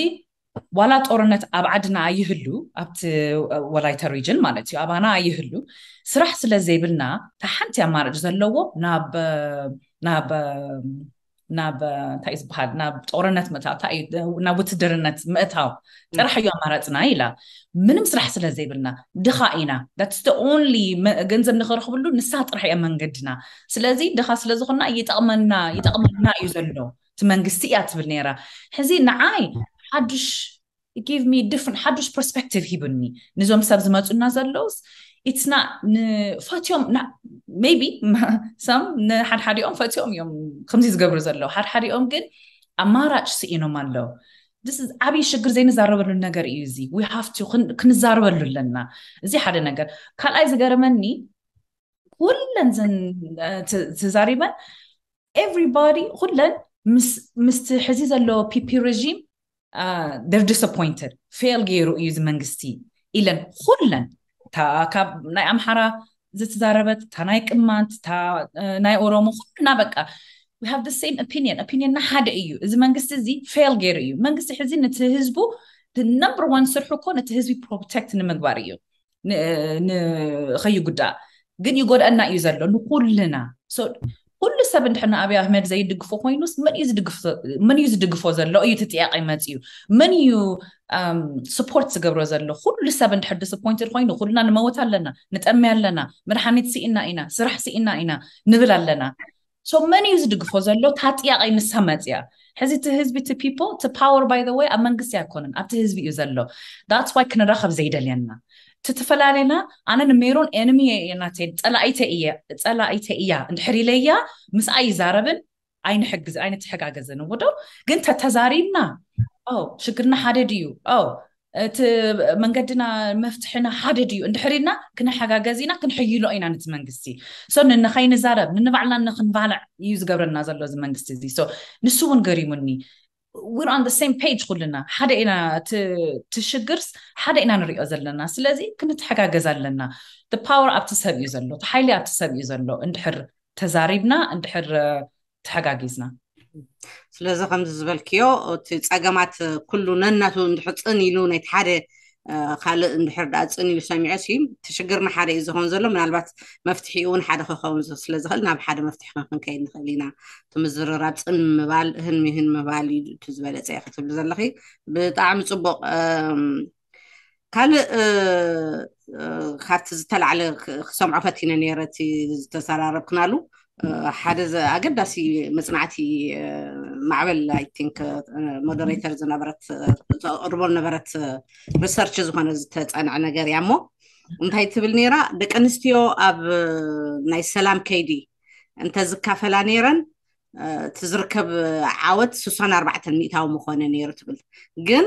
ዋላ ጦርነት ኣብ ዓድና ኣይህሉ ኣብቲ ወላይታ ሪጅን ማለት እዩ ኣባና ኣይህሉ ስራሕ ስለ ዘይብልና እታ ሓንቲ ኣማራጭ ዘለዎ ናብ ናብ ናብ እንታይ ዝበሃል ናብ ጦርነት ምእታው እንታይ ናብ ውትድርነት ምእታው ጥራሕ እዩ ኣማራፅና ኢላ ምንም ስራሕ ስለ ዘይብልና ድኻ ኢና that's the only ገንዘብ ንኽረኽብሉ ንሳ ጥራሕ እያ መንገድና ስለዚ ድኻ ስለ ዝኾንና ይጠቕመና ይጠቕመና እዩ ዘሎ እቲ መንግስቲ እያ ትብል ነይራ ሕዚ ንዓይ ሓዱሽ give me different ሓዱሽ ፐርስፔክቲቭ ሂቡኒ ንዞም ሰብ ዝመፁና ዘለውስ ኢትስና ንፈትዮም ሜቢ ሰም ንሓድሓዲኦም ፈትዮም እዮም ከምዚ ዝገብሩ ዘለዉ ሓድሓዲኦም ግን ኣማራጭ ስኢኖም ኣለዉ። ዓብይ ሽግር ዘይንዛረበሉ ነገር እዩ። እዚ ክንዛረበሉ ኣለና። እዚ ሓደ ነገር። ካልኣይ ዝገርመኒ ኩለን ተዛሪበን everybody ኩለን ምስቲ ሕዚ ዘሎ ፒፒ regime they're disappointed። ፌል ገይሩ እዩ እዚ መንግስቲ ኢለን ኩለን፣ ካብ ናይ ኣምሓራ ዝተዛረበት፣ እታ ናይ ቅማንት፣ እታ ናይ ኦሮሞ፣ ኩልና በቃ we have the same opinion። Opinionና ሓደ እዩ። እዚ መንግስቲ እዚ ፌል ገይሩ እዩ። መንግስቲ ሕዚ ነቲ ህዝቡ number one ስርሑ እኮ ነቲ ህዝቢ protect ንምግባር እዩ፣ ንኸይጉዳእ። ግን ይጎድኣና እዩ ዘሎ ንኩልና። ኩሉ ሰብ እንድሕር ንኣብይ ኣህመድ ዘይድግፎ ኮይኑስ መን እዩ ዝድግፎ ዘሎ እዩ እቲ ጥያቄ መፅዩ። መን እዩ support ዝገብሮ ዘሎ? ኩሉ ሰብ እንድሕር disappointed ኮይኑ ኩልና ንመውት ኣለና፣ ንጠሚ ኣለና፣ መድሓኒት ስኢና ኢና፣ ስራሕ ስኢና ኢና ንብል ኣለና። So መን እዩ ዝድግፎ ዘሎ? እታ ጥያቄ ንሳ መፅያ። ሕዚ እቲ ህዝቢ፣ እቲ people፣ እቲ power by the way ኣብ መንግስቲ ኣይኮነን፣ ኣብቲ ህዝቢ እዩ ዘሎ። That's why ክንራኸብ ዘይደልየና፣ ትፈላለና። ኣነ ንሜሮን enemy ናተይ፣ ፀላኢተ እየ፣ ፀላኢተ እያ እንድሕር ኢለያ ምስኣ ይዛረብን ኣይንሕግዝ ኣይንተሓጋገዝን። ወዶ ግን ተተዛሪብና ሽግርና ሓደ ድዩ? እቲ መንገድና መፍትሕና ሓደ ድዩ እንድሕር ኢልና ክንሓጋገዝ ኢና፣ ክንሕይሎ ኢና ነቲ መንግስቲ። So ንንኸይንዛረብ ንንባዕልና ንክንባልዕ እዩ ዝገብረና ዘሎ እዚ መንግስቲ እዚ። So ንሱ እውን ገሪሙኒ። We're on the same page ኩልና፣ ሓደ ኢና። እቲ ሽግርስ ሓደ ኢና ንሪኦ ዘለና። ስለዚ ክንተሓጋገዝ ኣለና። Power ኣብቲ ሰብ እዩ ዘሎ፣ እቲ ሓይሊ ኣብቲ ሰብ እዩ ዘሎ። እንድሕር ተዛሪብና፣ እንድሕር ተሓጋጊዝና። ስለዚ ከምዚ ዝበልክዮ እቲ ፀገማት ኩሉ ነናቱ እንድሕር ፅን ኢሉ ናይቲ ሓደ ካልእ እንድሕር ደኣ ፅን ኢሉ ሰሚዑ ሲ እቲ ሽግርና ሓደ እዩ ዝኸውን ዘሎ። ምናልባት መፍትሒኡ እውን ሓደ ክኸውን ስለ ዝኽእል ናብ ሓደ መፍትሒ ክንከይድ ንኽእል ኢና። እቲ ምዝርራብ ፅን ምባል፣ ህን ምህን ምባል እዩ እቲ ዝበለፀ ክትብሊ ዘለኺ። ብጣዕሚ ፅቡቕ። ካልእ ካብቲ ዝተላዕለ ክሰምዖ ፈቲነ ነይረ እቲ ዝተሰራረብክናሉ ሓደ ኣገዳሲ መፅናዕቲ ማዕበል I think moderator ዝነበረት ተቕርቦ ነበረት research ዝኾነ ዝተፀንዐ ነገር እያ እሞ እንታይ ትብል ነይራ ደቂ ኣንስትዮ ኣብ ናይ ሰላም ከይዲ እንተዝካፈላ ነይረን እቲ ዝርከብ ዓወት ስሳን ኣርባዕተን ሚእታዊ ምኾነ ነይሩ ትብል ግን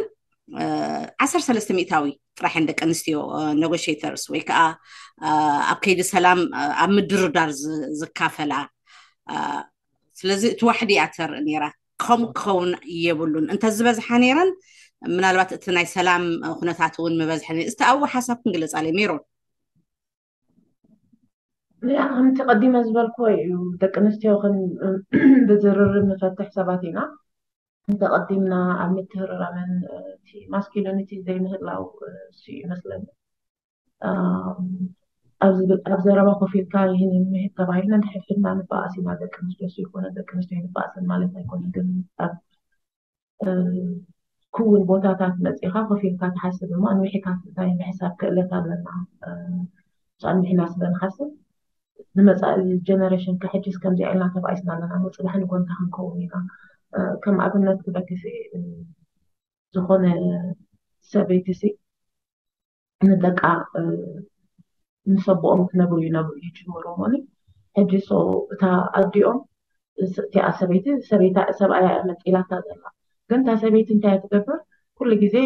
ዓሰርተ ሰለስተ ሚእታዊ ጥራሕ እየን ደቂ ኣንስትዮ negotiators ወይ ከዓ ኣብ ከይዲ ሰላም ኣብ ምድርዳር ዝካፈላ ስለዚ እቲ ዋሕዲ እያ ተርኢ ነይራ ከምኡ ክኸውን የብሉን እንተዝበዝሓ ነይረን ምናልባት እቲ ናይ ሰላም ኩነታት እውን ምበዝሐ ነይሩ እስቲ ኣብኡ ሓሳብ ክንግለፅ ኣለ ሜሮን ከምቲ ቀዲመ ዝበልክዎ እዩ ደቂ ኣንስትዮ ብዝርርብ ንፈትሕ ሰባት ኢና እንተቐዲምና ኣብ ምትህርራመን masculinity ዘይምህላው እሱ ይመስለኒ ኣብ ዘረባ ኮፍ ኢልካ ይህን ምሄድ ተባሂልና ንሕድሕድና ንበኣስ ኢና ደቂ ኣንስትዮ እሱ ይኮነ ደቂ ኣንስትዮ ንበኣስን ማለት ኣይኮነ ግን ኣብ ክውን ቦታታት መፂኻ ኮፍ ኢልካ ትሓስብ እሞ ኣንዊሕካ እንታይ ምሕሳብ ክእለት ኣለና ኣንዊሕና ስለ ንሓስብ ንመፃኢ generation ከሕጅስ ከምዚኣ ኢልና ተባኢስና ኣለና እሞ ፅባሕ ንጎንታ ክንከውን ኢና ከም ኣብነት ክበኪሲ ዝኾነ ሰበይቲ ሲ ንደቃ ምስ ኣቦኦም ክነብሩ ይነብሩ ይጅምሩ እሞኒ ሕጂ so እታ ኣዲኦም እቲኣ ሰበይቲ ሰበይታ ሰብኣያ እያ መንጢላታ ዘላ ግን እታ ሰበይቲ እንታይ ትገብር ኩሉ ግዜ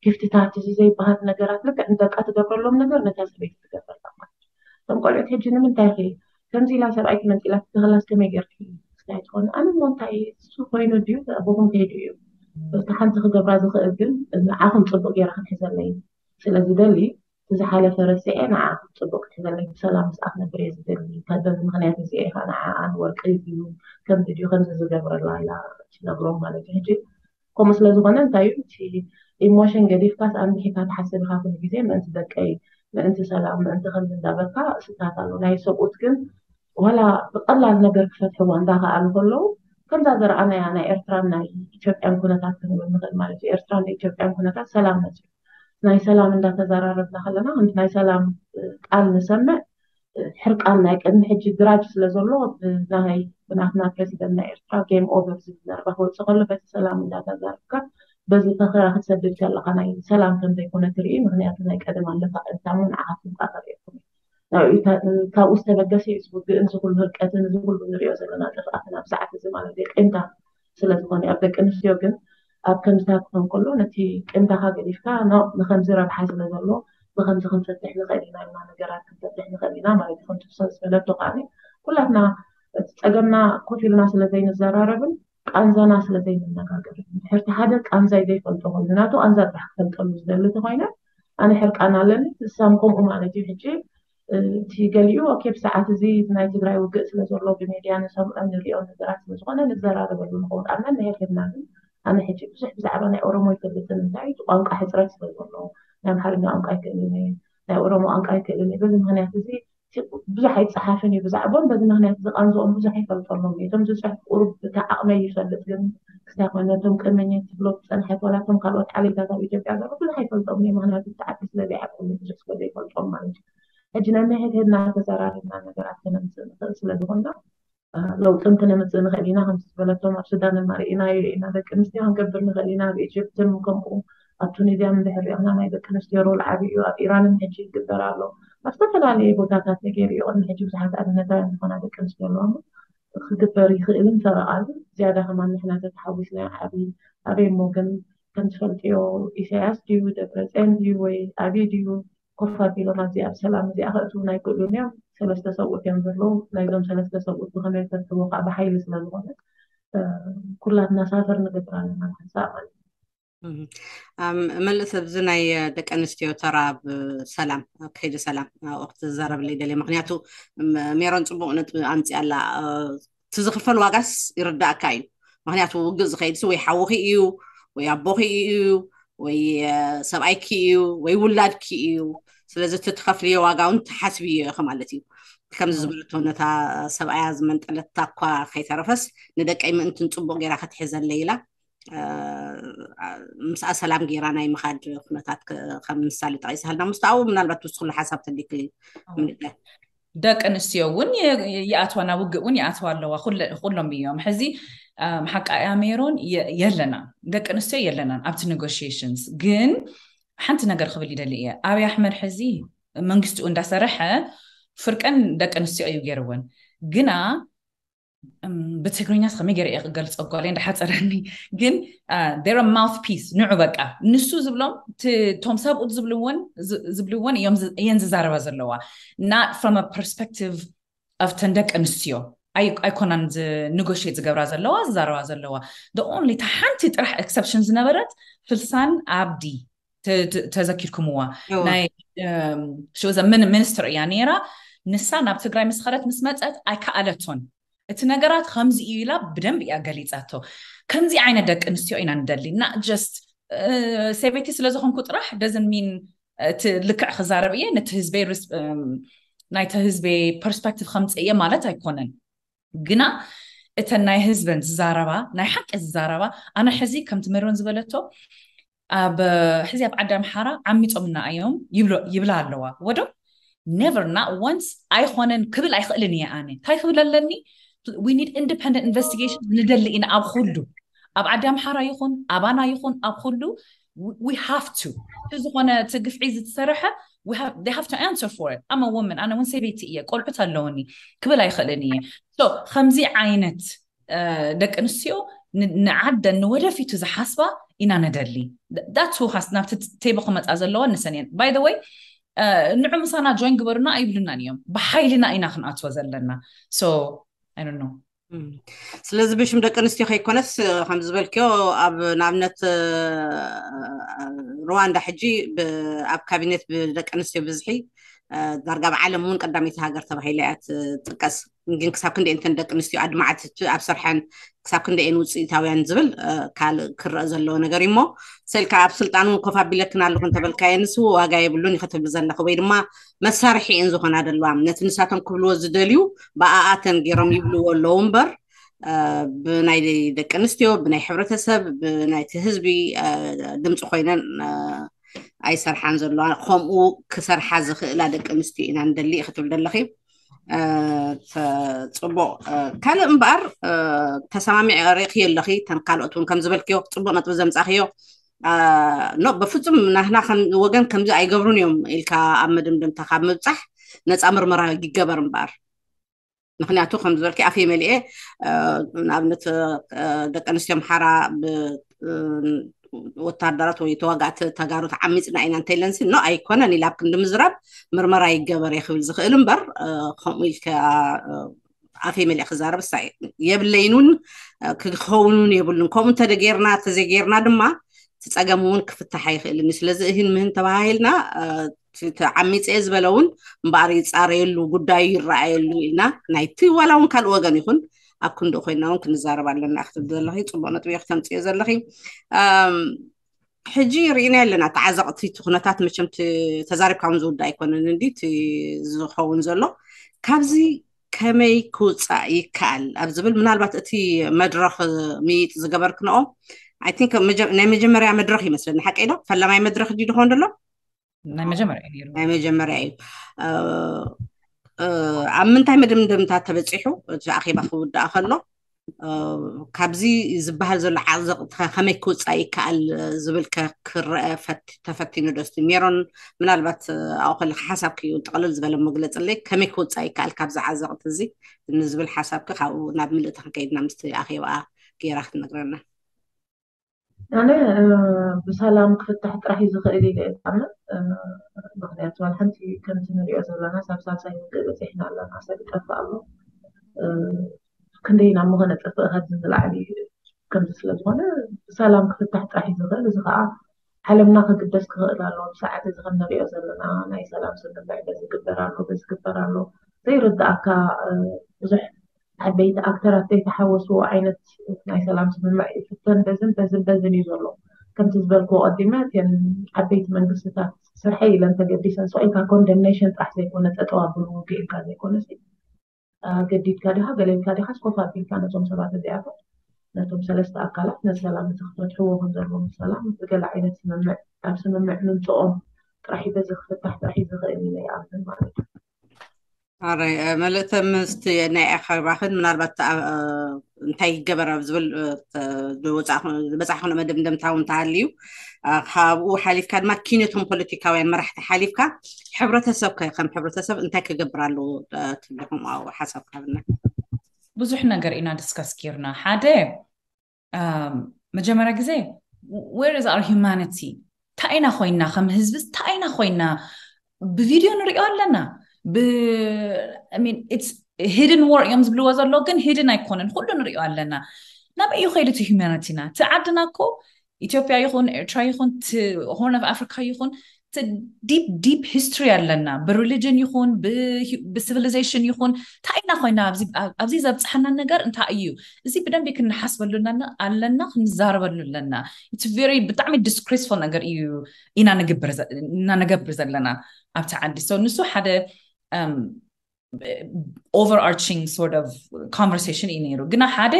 ጊፍትታት እዚ ዘይበሃል ነገራት ልክዕ ንደቃ ትገብረሎም ነገር ነታ ሰበይቲ ትገብረላ ማለት እዩ እቶም ቆልዑት ሕጂ ንምንታይ ኸ ከምዚ ኢላ ሰብኣይኪ መንጢላቲ ተኽላስ ከመይ ጌርኪ ስታይ ትኾኒ ኣነ ሞ እንታይ እሱ ኮይኑ ድዩ ኣቦኹም ከይዱ እዩ እቲ ሓንቲ ክገብራ ዝኽእል ግን ንዓኹም ፅቡቅ ጌራ ክትሕዘለይ ስለ ዝደሊ እቲ ዝሓለፈ ረሲዐ ንዓኹም ፅቡቅ ክትሕዘለይ ብሰላም ምስኣ ክነብር እየ ዝደሊ በዚ ምክንያት እዚ ኢኻ ንዓኣን ወርቂ ድዩ ከምዚ ድዩ ከምዚ ዝገብረላ ኢላ ትነግሮም ማለት እዩ ሕጂ ከምኡ ስለ ዝኾነ እንታይ እዩ እቲ ኢሞሽን ገዲፍካስ ኣንቢሒካ ትሓስብ ኢኻ ኩሉ ግዜ ምእንቲ ደቀይ ምእንቲ ሰላም ምእንቲ ከምዚ እንዳበልካ ስታት ኣሎ ናይ ሰብኡት ግን ዋላ ብቀላል ነገር ክፈትሕዋ እንዳኸኣሉ ከለዉ ከምዛ ዘረኣናያ ናይ ኤርትራን ናይ ኢትዮጵያን ኩነታት ክንብል ንኽእል ማለት እዩ ኤርትራን ናይ ኢትዮጵያን ኩነታት ሰላም መፅዩ ናይ ሰላም እንዳተዘራረብና ከለና ከምቲ ናይ ሰላም ቃል ንሰምዕ ሕርቃን ናይ ቅድሚ ሕጂ ግራጅ ስለ ዘሎ ብናይ ብናትና ፕረዚደንት ናይ ኤርትራ game over ዝብል ዘረባ ክወፅእ ከሎ በቲ ሰላም እንዳተዛረብካ በዚ ፈኸራ ክትሰድድ ከለካ ናይ ሰላም ከም ዘይኮነ ትርኢ ምክንያቱ ናይ ቀደም ኣለካ እንታሞ ንዓካ ትምጣ ተሪእኩም ካብኡ ዝተበገሰ እዩ ዝውግእን ዝኩሉ ህርቀትን ዝኩሉ ንሪኦ ዘለና ጥፍኣትን ኣብ ሰዓት እዚ ማለት እዩ ቂምታ ስለ ዝኾነ ኣብ ደቂ ኣንስትዮ ግን ኣብ ከምዚታት ክኾን ከሎ ነቲ ቅንዳኻ ገዲፍካ ኖ ንኸምዚ ረብሓ ስለ ዘሎ ብኸምዚ ክንፈትሕ ንኽእል ኢና ኢልና ነገራት ክንፈትሕ ንኽእል ኢና ማለት እዩ። ከምቲ ሰብ ዝበለቶ ከዓ ኩላትና እቲ ፀገምና ኮፍ ኢልና ስለ ዘይንዘራረብን ቃንዛና ስለ ዘይንነጋገርን ድሕርቲ ሓደ ቃንዛይ ዘይፈልጦ ኮይኑ ናቱ ቃንዛ ጥራሕ ክፈልጠሉ ዝደሊ ተኮይነ ኣነ ሕርቃን ኣለኒ ንሳም ከምኡ ማለት እዩ። ሕጂ እቲ ገሊኡ ኦኬ ብሰዓት እዚ ናይ ትግራይ ውግእ ስለ ዘሎ ብሜድያ ንሰምዖ ንሪኦ ነገራት ስለ ዝኾነ ንዘራረበሉ ንኸውን ኣና ንሄድና ግን ኣነ ሕጂ ብዙሕ ብዛዕባ ናይ ኦሮሞ ይፈልጥን እንታይ እቲ ቋንቋ ሕፅረት ስለ ዘሎ ናይ ኣምሓርኛ ቋንቋ ኣይክእልን እየ ናይ ኦሮሞ ቋንቋ ኣይክእልን እየ በዚ ምክንያት እዚ ብዙሕ ኣይፀሓፍን እዩ ብዛዕቦም በዚ ምክንያት ዝቃንዝኦም ብዙሕ ኣይፈልጠሎም እዩ እቶም ዝፅሕፍ ቁሩብ እቲ ዓቕመይ ይፈልጥ ግን ክሳብ ነቶም ቅመኘት ትብሎ ዝፀንሐት ዋላ እቶም ካልኦት ዓሌታት ኣብ ኢትዮጵያ ዘሎ ብዙሕ ኣይፈልጦም እዩ ምክንያቱ እቲ ዓዲ ስለ ዘይዓቅሉ ብዙሕ ስለ ዘይፈልጦም ማለት እዩ ሕጂ ነንሕድሕድና ተዘራሪብና ነገራት ከነምፅእ ንኽእል ስለ ዝኾንና ለውጥን ክነምፅእ ንኽእል ኢና ከም ዝበለቶም ኣብ ሱዳን ርኢናዮ ኢና ደቂ ኣንስትዮ ክንገብር ንኽእል ኢና ኣብ ኢጅፕትን ከምኡ ኣብ ቱኒዝያን እንድሕር ሪእና ናይ ደቂ ኣንስትዮ ሮል ዓብይ እዩ ኣብ ኢራንን ሕጂ ይግበር ኣሎ ኣብ ዝተፈላለየ ቦታታት ተገይሩ እዩ ቅድሚ ሕጂ ብዙሓት ኣብነታውያን ዝኾና ደቂ ኣንስትዮ ኣለዋ ክግበር ይኽእልን ፈረቓሉ ዝያዳ ከማን ንሕና ተተሓዊስና ዓብይ ኣበይ እሞ ግን ከም ትፈልጥዮ ኢሳያስ ድዩ ደብረፅዮን ድዩ ወይ ኣብይ ድዩ ኮፍ ኣቢሎም ኣብዚ ኣብ ሰላም እዚኣ ከእትውና ኣይክእሉን እዮም ሰለስተ ሰብኡት እዮም ዘለዉ ናይዞም ሰለስተ ሰብኡት ብኸመይ ተርትቦ ከዓ ብሓይሊ ስለ ዝኾነ ኩላትና ሳፈር ንገብር ኣለና ንሓንሳእ ማለት እዩ መልእስ ኣብዚ ናይ ደቂ ኣንስትዮ ተራ ኣብ ሰላም ኣብ ከይዲ ሰላም ወቅቲ ዝዛረብለይ ደልየ ምክንያቱ ሜሮን ፅቡቅ ነጥቢ ኣምፅኣ ኣላ እቲ ዝኽፈል ዋጋስ ይርዳእካ እዩ ምክንያቱ ውግእ ዝኸይድሲ ወይ ሓውኺ እዩ ወይ ኣቦኺ እዩ ወይ ሰብኣይኪ እዩ ወይ ውላድኪ እዩ ስለዚ እቲ ትኸፍልዮ ዋጋ እውን ትሓስብዮ ኢኺ ማለት እዩ ከምዚ ዝበለቶ ነታ ሰብኣያ ዝመንጠለታ እኳ ከይተረፈስ ንደቀይ ምእንትን ፅቡቅ ገይራ ክትሕዘለይ ኢላ ምስኣ ሰላም ገይራ ናይ ምኻድ ኩነታት ከም ምሳሌ ጠቂስሃልና ምስታኡ ምናልባት ውስጥ ኩሉ ሓሳብ ተሊክ ምንዳይ ደቂ ኣንስትዮ እውን ይኣትዋ ናብ ውግእ እውን ይኣትዋ ኣለዋ ኩሎም እዮም ሕዚ ሓቃያ ሜሮን የለና ደቂ ኣንስትዮ የለናን ኣብቲ negotiations ግን ሓንቲ ነገር ክብል ይደሊ እየ ኣብይ ኣሕመድ ሕዚ መንግስቲኡ እንዳሰረሐ ፍርቀን ደቂ ኣንስትዮ እዩ ገይርወን ግና ብትግርኛ ከመይ ገይረ እየ ክገልፆ ጓል እንዳሓፀረኒ ግን they're a mouthpiece ንዑ በቃ ንሱ ዝብሎም ቶም ሰብኡት ዝብልወን ዝብልወን እየን ዝዛረባ ዘለዋ not from a perspective of ተን ደቂ ኣንስትዮ ኣይኮናን negotiate ዝገብራ ዘለዋ ዝዛረባ ዘለዋ the only ሓንቲ ጥራሕ exception ዝነበረት ፍልሳን ኣብዲ ተዘኪርኩምዋ ናይ she was a minister እያ ነይራ ንሳ ናብ ትግራይ ምስ ኸደት ምስ መፀት ኣይከኣለቶን እቲ ነገራት ከምዚ እዩ ኢላ ብደንብ እያ ገሊፃቶ ከምዚ ዓይነት ደቂ ኣንስትዮ ኢና ንደሊ not just ሰበይቲ ስለ ዝኾንኩ ጥራሕ doesn't mean እቲ ልክዕ ክዛረብ እየ ነቲ ህዝበይ ናይቲ ህዝበይ perspective ከምፅእ እየ ማለት ኣይኮነን ግና እተን ናይ ህዝበን ዝዛረባ ናይ ሓቂ ዝዛረባ ኣነ ሕዚ ከምቲ ሜሮን ዝበለቶ ኣብ ሕዚ ኣብ ዓዲ ኣምሓራ ዓሚፆምና እዮም ይብላ ኣለዋ ወዶ never not once ኣይኮነን ክብል ኣይኽእልን እየ ኣነ እንታይ ክብል ኣለኒ we need independent investigation ንደሊ ኢና ኣብ ኩሉ ኣብ ዓዲ ኣምሓራ ይኹን ኣባና ይኹን ኣብ ኩሉ we have to እቲ ዝኾነ እቲ ግፍዒ ዝተሰርሐ they have to answer for it I'm a woman ኣነ እውን ሰበይቲ እየ ቆልዑት ኣለውኒ ክብል ኣይኽእልን እየ so ከምዚ ዓይነት ደቂ ኣንስትዮ ንዓደን ንወደፊቱ ዝሓስባ ኢና ንደሊ that's who has ናብቲ ቴቦ ክመፃ ዘለዋ ንሰን እየን by the way ንዑ ምሳና join ግበሩና ኣይብሉናን እዮም ብሓይልና ኢና ክንኣትዎ ዘለና so I don't know ስለዚ ብሽም ደቂ ኣንስትዮ ከይኮነስ ከም ዝበልክዮ ኣብ ንኣብነት ሩዋንዳ ሕጂ ኣብ ካቢኔት ብደቂ ኣንስትዮ ብዝሒ ዳርጋ ኣብ ዓለም እውን ቀዳመይቲ ሃገር ተባሂላ እያ ትጥቀስ ግን ክሳብ ክንደይ እንተን ደቂ ኣንስትዮ ኣድማዕቲ ኣብ ስርሐን ክሳብ ክንደይን ውፅኢታውያን ዝብል ካልእ ክረአ ዘለዎ ነገር እዩ እሞ ሰልካ ኣብ ስልጣን እውን ኮፍ ኣቢለክን ኣለኹ እንተበልካየ ንስ ዋጋ የብሉን እዩ ክትብል ዘለኹ ወይ ድማ መሳርሒ እየን ዝኾና ዘለዋ ነቲ ንሳቶም ክብልዎ ዝደልዩ ብኣኣተን ገይሮም ይብልዎ ኣለዉ እምበር ብናይ ደቂ ኣንስትዮ ብናይ ሕብረተሰብ ብናይቲ ህዝቢ ድምፂ ኮይነን ኣይሰርሓን ዘለዋ ከምኡ ክሰርሓ ዝኽእላ ደቂ ኣንስትዮ ኢና ንደሊ ክትብል ዘለኺ ፅቡቅ ካልእ እምበኣር ተሰማሚዕ ርኢኽዮ ኣለኺ ተን ካልኦት እውን ከም ዝበልክዮ ፅቡቅ ነጥቢ ዘምፃእኽዮ ኖ በፍፁም ናህና ወገን ከምዚ ኣይገብሩን እዮም ኢልካ ኣብ መደምደምታ ካብ ምብፃሕ ነፃ ምርመራ ይገበር እምበኣር ምክንያቱ ከም ዝበልኪ ኣፈይ መሊኤ ንኣብነት ደቂ ኣንስትዮ ኣምሓራ ወታደራት ወይ ተዋጋእቲ ተጋሩ ተዓሚፅና ኢና እንተይለንሲ ኖ ኣይኮነን ኢላ ኣብ ክንዲ ምዝራብ ምርመራ ይገበር እየ ክብል ዝኽእል እምበር ከምኡ ኢልካ ኣፈይ መሊእ ክዛረብ ሳ የብለይን እውን ክኸውን እውን የብሉን። ከምኡ እንተደጌርና ተዘጌርና ድማ እቲ ፀገም እውን ክፍታሕ ኣይኽእልን እዩ። ስለዚ እህን ምህን ተባሃሂልና ተዓሚፀ ዝበለ እውን እምበኣር ይፃረየሉ ጉዳዩ ይረኣየሉ ኢልና ናይቲ ዋላ እውን ካልእ ወገን ይኹን ኣብ ክንዲ ኮይና እውን ክንዛረብ ኣለና ክትብል ዘለኺ ፅቡቅ ነጥቢ ክተምፅዮ ዘለኺ። ሕጂ ርኢና ኣለና ተዓዘቕቲ እቲ ኩነታት መቸም ተዛሪብካ እውን ዝውዳ ኣይኮነን እንዲ ዝኸውን ዘሎ ካብዚ ከመይ ክውፃእ ይከኣል ኣብ ዝብል ምናልባት እቲ መድረኽ ምይጥ ዝገበርክንኦ ናይ መጀመርያ መድረኽ ይመስለኒ ሓቀይ ዶ ፈለማይ መድረኽ ዲ ድኾን ዘሎ ናይ መጀመርያ እዩ ናይ መጀመርያ እዩ ኣብ ምንታይ መደምደምታ ተበፂሑ እቲ ኣኼባ ክውዳእ ከሎ ካብዚ ዝበሃል ዘሎ ዓዘቕ ከመይ ክውፃእ ይከኣል ዝብል ክረአ ተፈቲኑ ዶ ሜሮን ምናልባት ኣብኡ ከለካ ሓሳብኪ ጥቕልል ዝበለ መግለፅለይ ከመይ ክውፃእ ይከኣል ካብዚ ዓዘቕቲ እዚ ንዝብል ሓሳብኪ ካብኡ ናብ ምልእቲ ክንከይድና ምስቲ ኣኼባኣ ገይራ ክትነግረና ኣነ ብሰላም ክፍታሕ ጥራሕ እዩ ዝኽእል ኢለ እየ ዝኣምን። ምክንያቱ ዋላ ሓንቲ ከምቲ ንሪኦ ዘለና ሳብ ሳልሳይ ውግእ በፂሕና ኣለና፣ ሰብ ይጠፍእ ኣሎ። ክንደይ ናብ ምኾነ ጠፍእ ካብዚ ንላዕሊ ከምዚ ስለ ዝኾነ ብሰላም ክፍታሕ ጥራሕ እዩ ዝኽእል። እዚ ከዓ ዓለምና ክግደስ ክኽእል ኣለዎ። ብሰዓት እዚ ከም ንሪኦ ዘለና ናይ ሰላም ስምምዕ በዚ ግበር ኣሎ በዚ ግበር ኣሎ ዘይርድኣካ ብዙሕ ዓበይቲ ኣክተራት ዘይተሓወስዎ ዓይነት ናይ ሰላም ስምምዕ ይፍተን በዝን በዝን በዝን እዩ ዘሎ። ከምቲ ዝበልክዎ ቀዲመ እተን ዓበይቲ መንግስትታት ስርሐይ ኢለን ተገዲሰን ስቕ ኢልካ ኮንደምኔሽን ጥራሕ ዘይኮነ ጠጠው ኣብሉ ውግእ ኢልካ ዘይኮነ ገዲድካ ዲኻ ገለ ኢልካ ዲኻ ስኮፍ ኣቢልካ ነቶም ሰባት እዚኣቶም ነቶም ሰለስተ ኣካላት ነቲ ሰላም እዚ ክፈትሕዎ ከም ዘለዎም ሰላም ብገለ ዓይነት ስምምዕ ኣብ ስምምዕ ምምፅኦም ጥራሕ በዚ ክፍታሕ ጥራሕ እዩ ዝኽእል ኢለ ይኣምን ማለት እዩ። ኣረ መልእተ ምስቲ ናይ ኣኸባኽን ምናልባት እንታይ ይገበር ኣብ ዝብል ዝበፃዕኹን መደምደምታ እውን ተሃልዩ ካብኡ ሓሊፍካ ድማ ኪነቶም ፖለቲካውያን መራሕቲ ሓሊፍካ ሕብረተሰብ ከም ሕብረተሰብ እንታይ ክገብር ኣለዎ ትብልኹም ኣብኡ ሓሳብ ካብና ብዙሕ ነገር ኢና ዲስከስ ጌርና ሓደ መጀመርያ ግዜ where is our humanity እንታይ ኢና ኮይና ከም ህዝቢ እንታይ ኢና ኮይና ብቪድዮ ንሪኦ ኣለና hidden war እዮም ዝብልዎ ዘሎ ግን hidden ኣይኮነን ኩሉ ንሪኦ ኣለና ናበይ እዩ ከይዱ እቲ humanityና እቲ ዓድና እኮ ኢትዮጵያ ይኹን ኤርትራ ይኹን horn of Africa ይኹን deep deep history ኣለና ብ religion ይኹን ብ civilization ይኹን እንታይ ኢና ኮይና ኣብዚ ዘብፅሐና ነገር እንታይ እዩ እዚ ብደንቢ ክንሓስበሉ ኣለና ክንዛረበሉ ኣለና it's very ብጣዕሚ disgraceful ነገር እዩ ኢና ንገብር ዘለና ኣብቲ ዓዲ so ንሱ ሓደ overarching sort of conversation እዩ ነይሩ ግና ሓደ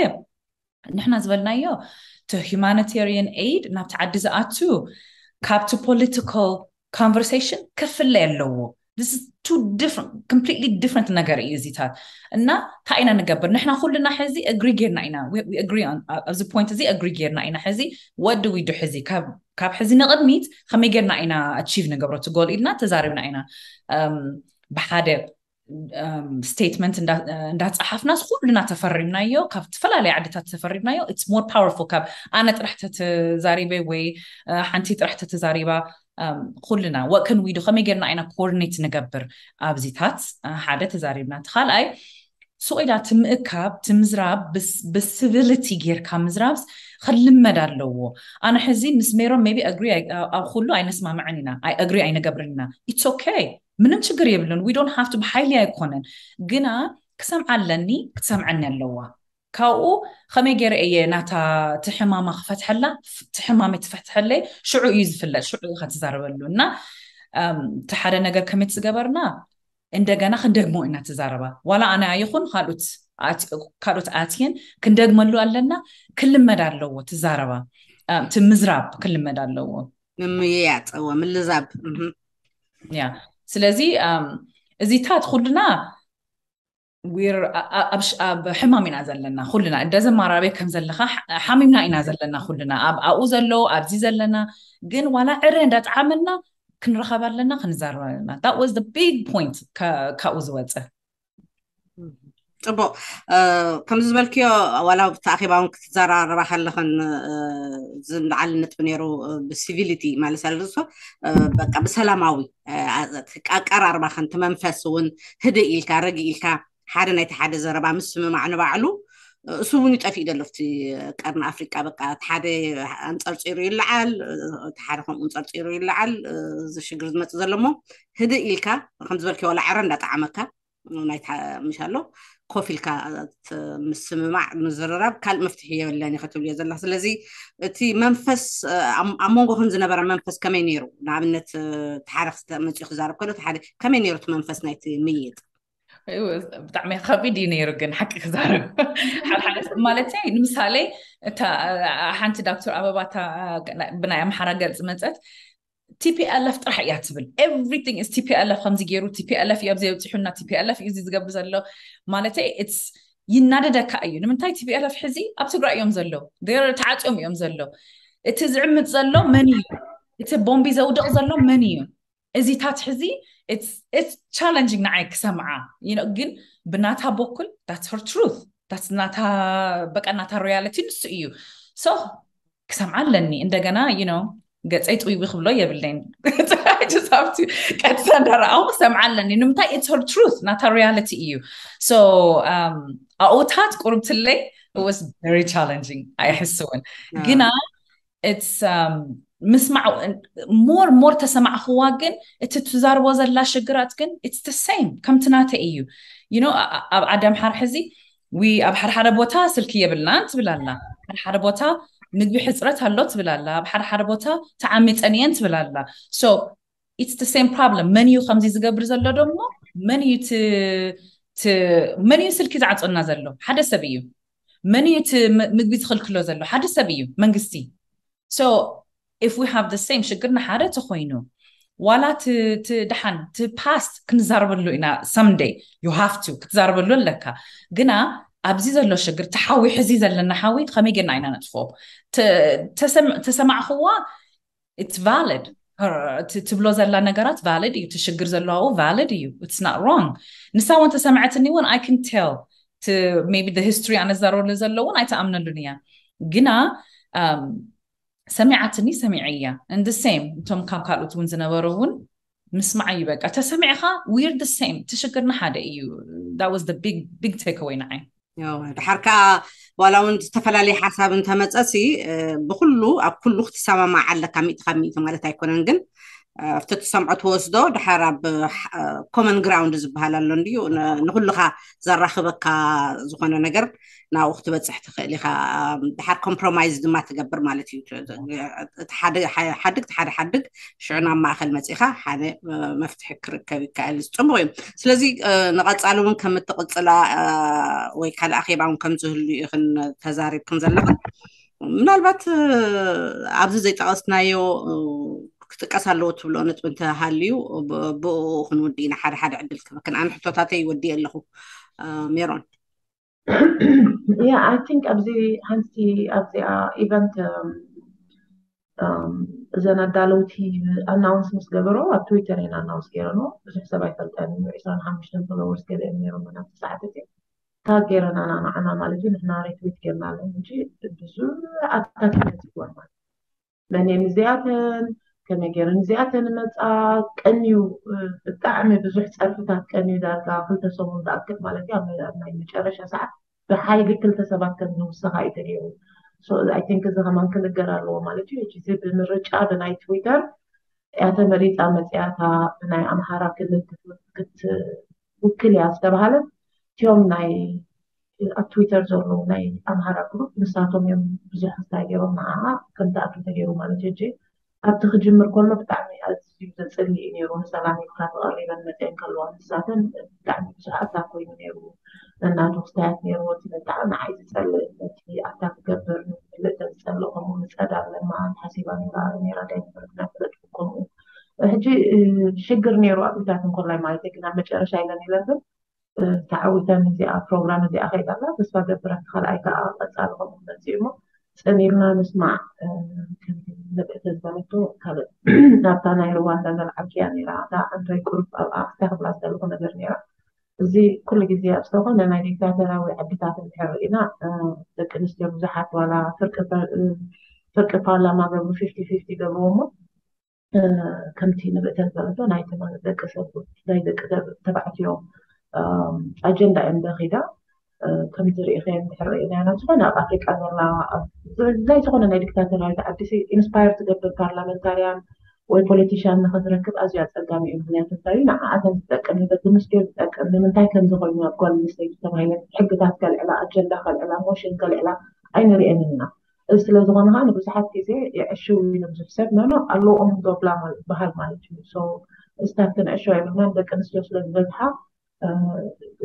ንሕና ዝበልናዮ to humanitarian aid ናብቲ ዓዲ ዝኣቱ ካብቲ political conversation ክፍለ ኣለዎ completely different ነገር እዩ እዚታት እና እንታይ ኢና ንገብር ንሕና ኩልና ሕዚ agree ጌርና ኢና ኣብዚ point እዚ agree ጌርና ኢና ሕዚ what do we do ሕዚ ካብ ሕዚ ንቕድሚት ከመይ ጌርና ኢና achieve ንገብሮ ትጎል ኢልና ተዛሪብና ኢና ብሓደ statement እንዳፀሓፍናስ ኩልና ተፈሪምናዮ ካብ ዝተፈላለዩ ዓድታት ተፈሪምናዮ it's more powerful ካብ ኣነ ጥራሕ ተተዛሪበ ወይ ሓንቲ ጥራሕ ተተዛሪባ ኩልና what can we do ከመይ ጌርና ኢና coordinate ንገብር ኣብዚታት ሓደ ተዛሪብና እቲ ካልኣይ ሱቕ ኢላ ትምእካብ ትምዝራብ ብ civility ጌርካ ምዝራብ ክልመድ ኣለዎ ኣነ ሕዚ ምስ ሜሮን maybe agree ኣብ ኩሉ ኣይነስማምዕን ኢና agree ኣይንገብርን ኢና it's okay ምንም ችግር የብሉን we don't have to ብሓይሊ ኣይኮነን ግና ክሰምዓ ኣለኒ ክትሰምዐኒ ኣለዋ ካብኡ ከመይ ገይረ እየ ናታ እቲ ሕማማ ክፈትሐላ እቲ ሕማመይ ትፈትሐለይ ሽዑ እዩ ዝፍለጥ ሽዑ ኢኻ ትዛረበሉ እና እቲ ሓደ ነገር ከመይ ዝገበርና እንደገና ክንደግሞ ኢና ትዛረባ ዋላ ኣነ ኣይኹን ካልኦት ኣትየን ክንደግመሉ ኣለና ክልመድ ኣለዎ ትዛረባ እቲ ምዝራብ ክልመድ ኣለዎ ምምይያጥ እወ ምልዛብ ያ ስለዚ እዚታት ኩልና ኣብ ሕማም ኢና ዘለና ኩልና እንደዚ ማራቤ ከም ዘለካ ሓሚምና ኢና ዘለና ኩልና ኣብኡ ዘሎ ኣብዚ ዘለና ግን ዋላ ዕረ እንዳጠዓመና ክንረኸብ ኣለና ክንዛረብ ኣለና that was the big point ካብኡ ዝወፀ ጽቡቕ። ከምዚ ዝበልክዮ፣ ዋላ ኣብቲ ኣኼባ እውን ክትዘራረባ ከለኽን ዝለዓለ ነጥቢ ነይሩ። ብሲቪሊቲ ማለት ኣለሶ በቃ ብሰላማዊ ኣቀራርባኽን፣ እቲ መንፈስ እውን ህድእ ኢልካ፣ ረግ ኢልካ፣ ሓደ ናይቲ ሓደ ዘረባ ምስምማዕ ንባዕሉ እሱ እውን ይጠፍእ ደሎ ኣብቲ ቀርኒ ኣፍሪቃ። በቃ እቲ ሓደ ኣንጸርጺሩ ይለዓል፣ እቲ ሓደ ከምኡ ኣንጸርጺሩ ይለዓል። እዚ ሽግር ዝመጽእ ዘሎ እሞ ህድእ ኢልካ፣ ከም ዝበልክዮ፣ ዋላ ዕረ እንዳጠዓመካ፣ ናይታ ምሽ ኣሎ ኮፍ ኢልካ ምስምማዕ፣ ምዝርራብ ካልእ መፍትሒ የብለን ኢኸ ትብልዮ ዘለኻ። ስለዚ እቲ መንፈስ ኣብ መንጎኽን ዝነበረ መንፈስ ከመይ ነይሩ? ንኣብነት ተሓረክስ መፅኡ ክዛረብ ከሎ ተሓደ ከመይ ነይሩ እቲ መንፈስ ናይቲ ምይጥ? ብጣዕሚ ከቢድ እዩ ነይሩ። ግን ሓቂ ክዛረብ ሓደሓደ ማለተይ፣ ንምሳሌ እታ ሓንቲ ዳክተር ኣበባ ብናይ ኣምሓራ ገልፂ መፀት፣ ቲፒኤልኤፍ ጥራሕ እያ ትብል። Everything is ቲፒኤልኤፍ ከምዚ ገይሩ፣ ቲፒኤልኤፍ እዩ ኣብዚ የብፅሑና፣ ቲፒኤልኤፍ እዩ እዚ ዝገብር ዘሎ። ማለተይ ይናደደካ እዩ። ንምንታይ? ቲፒኤልኤፍ ሕዚ ኣብ ትግራይ እዮም ዘለዉ፣ ተዓፅዮም እዮም ዘለዉ። እቲ ዝዕምፅ ዘሎ መን እዩ? እቲ ቦምቢ ዘውድቕ ዘሎ መን እዩ? እዚታት ሕዚ ቻለንጂንግ ንዓይ ክሰምዓ። ግን ብናታ በኩል that's her truth፣ ናታ በቃ ናታ ሪያሊቲ ንሱ እዩ። ሶ ክሰምዓ ኣለኒ እንደገና። ገፀይ ጥዊዊ ክብሎ የብለይን። ቀጥታ እንዳረኣው ክሰምዓ ኣለኒ። ንምንታይ? It's her truth፣ ናታ ሪያሊቲ እዩ። So ኣብኡታት ቁርብትለይ was very challenging ኣይሕስውን። ግና it's ምስማዕ more more ተሰማዕክዋ። ግን እቲ ትዛርቦ ዘላ ሽግራት ግን it's the same ከምቲ ናተይ እዩ። You know ኣብ ዓዲ ኣምሓራ ሕዚ ኣብ ሓደ ሓደ ቦታ ስልኪ የብልናን ትብል ኣላ፣ ሓደ ሓደ ቦታ ምግቢ ሕፅረት ኣሎ ትብል ኣላ፣ ኣብ ሓደ ሓደ ቦታ ተዓሚፀን እየን ትብል ኣላ። So it's the same problem። መን እዩ ከምዚ ዝገብር ዘሎ ደሞ? መን እዩ መን እዩ ስልኪ ዝዓፅወና ዘሎ? ሓደ ሰብ እዩ። መን እዩ ምግቢ ዝኽልክሎ ዘሎ? ሓደ ሰብ እዩ፣ መንግስቲ። So if we have the same ሽግር ንሓደ ተኮይኑ፣ ዋላ ድሓን እቲ ፓስት ክንዛረበሉ ኢና። Someday you have to ክትዛረበሉ ኣለካ። ግና ኣብዚ ዘሎ ሽግር፣ እቲ ሓዊ ሕዚ ዘለና ሓዊ ከመይ ጌርና ኢና ነጥፍኦ? ተሰማዕክዋ፣ it's valid። ትብሎ ዘላ ነገራት ቫሊድ እዩ። እቲ ሽግር ዘለዋኡ ቫሊድ እዩ። It's not wrong። ንሳ እውን ተሰምዐትኒ እውን I can tell። Maybe the history ኣነ ዝዛረበሉ ዘሎ እውን ኣይትኣምነሉን እያ። ግና ሰሚዓትኒ፣ ሰሚዐያ። And the same እቶም ካብ ካልኦት እውን ዝነበሩ እውን ምስማዕ እዩ። በቃ ተሰሚዕካ we're the same። እቲ ሽግርና ሓደ እዩ። That was the big big take away ንዓይ። ድሓር ከዓ ዋላ እውን ዝተፈላለየ ሓሳብ እንተመፀሲ ብኩሉ ኣብ ኩሉ ክትሰማማዕ ኣለካ ሚእቲ ካብ ሚእቲ ማለት ኣይኮነን። ግን ኣብቲ ትሰምዖ ትወስዶ ድሓር ኣብ ኮመን ግራውንድ ዝበሃል ኣሎ እንድዩ ንኩልካ ዘራኽበካ ዝኾነ ነገር ናብኡ ክትበፅሕ ትኽእል ኢኻ። ድሓር ኮምፕሮማይዝ ድማ ትገብር ማለት እዩ። ሓድግ ሓደ ሓድግ ሽዑ ናብ ማእኸል መፂኻ ሓደ መፍትሒ ክርከብ ይከኣል። ፅቡቅ እዩ። ስለዚ ንቐፃሊ እውን ከም እትቕፅላ ወይ ካልእ ኣኼባ እውን ከም ዝህሉ ኢኽን ተዛሪብክን ዘለኽን። ምናልባት ኣብዚ ዘይጠቐስናዮ ክጥቀስ ኣለዎ ትብሎ ነጥቢ እንተሃልዩ ብኡ ክንውዲ ኢና። ሓደ ሓደ ዕድል ክበክን ኣነ ሕቶታተይ ይወዲ ኣለኹ። ሜሮን Yeah, I think ኣብዚ ሓንቲ ኣብዚኣ ኢቨንት እዘን ኣዳለውቲ ኣናውንስ ምስ ገበሮ ኣብ ትዊተር እየን ኣናውንስ ገይረንኦ። ብዙሕ ሰብ ኣይፈልጠን እዩ። ዕስራን ሓሙሽተን ፎሎወርስ ገለ እዮም ነይሮም ናብቲ ሰዓት እቲ ታግ ገይረናና ንዓና ማለት እዩ። ንሕና ሬትዊት ገይርና ኣለና። ሕጂ ብዙሕ ኣታክ ይመፅእ ማለት መን እየን እዚኣተን፣ ከመይ ገይረን እዚኣተን መፃ ቀንዩ ብጣዕሚ ብዙሕ ፀርፍታት ቀንዩ ዳርጋ ክልተ ሰሙን ዝኣክል ማለት እዩ። ኣብ ናይ መጨረሻ ሰዓት ብሓይሊ ክልተ ሰባት ከም ዝውሰኻ እዩ ተገይሩ። I think እዚ ከማን ክንገር ኣለዎ ማለት እዩ። ሕጂ እዚ ብምርጫ ብናይ ትዊተር እያ ተመሪፃ መፅያታ ብናይ ኣምሓራ ክልል ክትውክል እያ ዝተባሃለት እቲኦም ናይ ኣብ ትዊተር ዘለዉ ናይ ኣምሃራ ግሩፕ ንሳቶም እዮም ብዙሕ እንታይ ገይሮም ንዓኣ ከም ትኣቱ ተገይሩ ማለት እዩ። ኣብቲ ክጅምር ከሎ ብጣዕሚ ኣዝዩ ዘፅልእ እዩ ነይሩ። ንሰላም ኢልካ ተቐሪበን መፅአን ከለዋ ንሳተን ብጣዕሚ ብዙሕ ኣታ ኮይኑ ነይሩ። ነናቱ ክስታያት ነይርዎ። እቲ ብጣዕሚ ንዓይ ዝፀልእ ነቲ ኣታ ክገብር ንፍልጥ ዝፀልእ ከምኡ ንፀዳ ለማ ሓሲባ ነይራ ነይራ ዳይቨር ናይ ፍለጥ ከምኡ ሕጂ ሽግር ነይሩ ኣብታት እንኮላይ ማለት ግን ኣብ መጨረሻ ኢለን ኢለን ግን ተዓዊተን እዚኣ ፕሮግራም እዚኣ ከይዳ ኣላ። ተስፋ ገብር ኣብቲ ካልኣይ ከዓ ቀፃሊ ከምኡ ክመፅእ እሞ ፅን ኢልና ንስማዕ። ከምቲ ንብዕቲ ዝበለቶ ካልእ ናብታ ናይ ሩዋንዳ ዘልዓልክያ ነይራ እታ ኣንቶይ ቁሩብ ኣብኣ ክስታይ ክብላ ዝደለኹ ነገር ነይራ። እዚ ኩሉ ግዜ ኣብ ዝኾነ ናይ ዲክታተራዊ ዓድታት እንድሕር ርኢና ደቂ ኣንስትዮ ብዙሓት ዋላ ፍርቂ ፓርላማ ገብሩ ፊፍቲ ፊፍቲ ገብርዎ እሞ ከምቲ ንብእተን ዘለቶ ናይ ተማሪ ደቂ ሰብ ናይ ደቂ ተባዕትዮ ኣጀንዳ እዮም ደኺዳ ከምዚ ርኢኸ እንድሕር ርኢና ናብ ዝኾነ ኣብ ኣፍሪቃ ዘላ ናይ ዝኾነ ናይ ዲክታተራዊት ዓዲ ኢንስፓየር ትገብር ፓርላመንታርያን ወይ ፖለቲሽያን ንኽትረክብ ኣዝዩ ኣጸጋሚ እዩ። ምክንያቱ እንታይ እዩ ንዓኣተን ዝጠቅም ንደቂ ኣንስትዮ ዝጠቅም ንምንታይ ከምዚ ኮይኑ ኣብ ጓል ኣንስተይቲ ተባሂለን ሕግታት ከልዕላ ኣጀንዳ ከልዕላ ሞሽን ከልዕላ ኣይንርእየንን ኢና። እዚ ስለ ዝኾነ ከዓ ንብዙሓት ግዜ የዕሽው እዩ ንብዙሕ ሰብ ኖኖ ኣለዎም ዶብላ ዝበሃል ማለት እዩ። ስታፍ ክንዕሽው ኣይብልናን ደቂ ኣንስትዮ ስለ ዝበዝሓ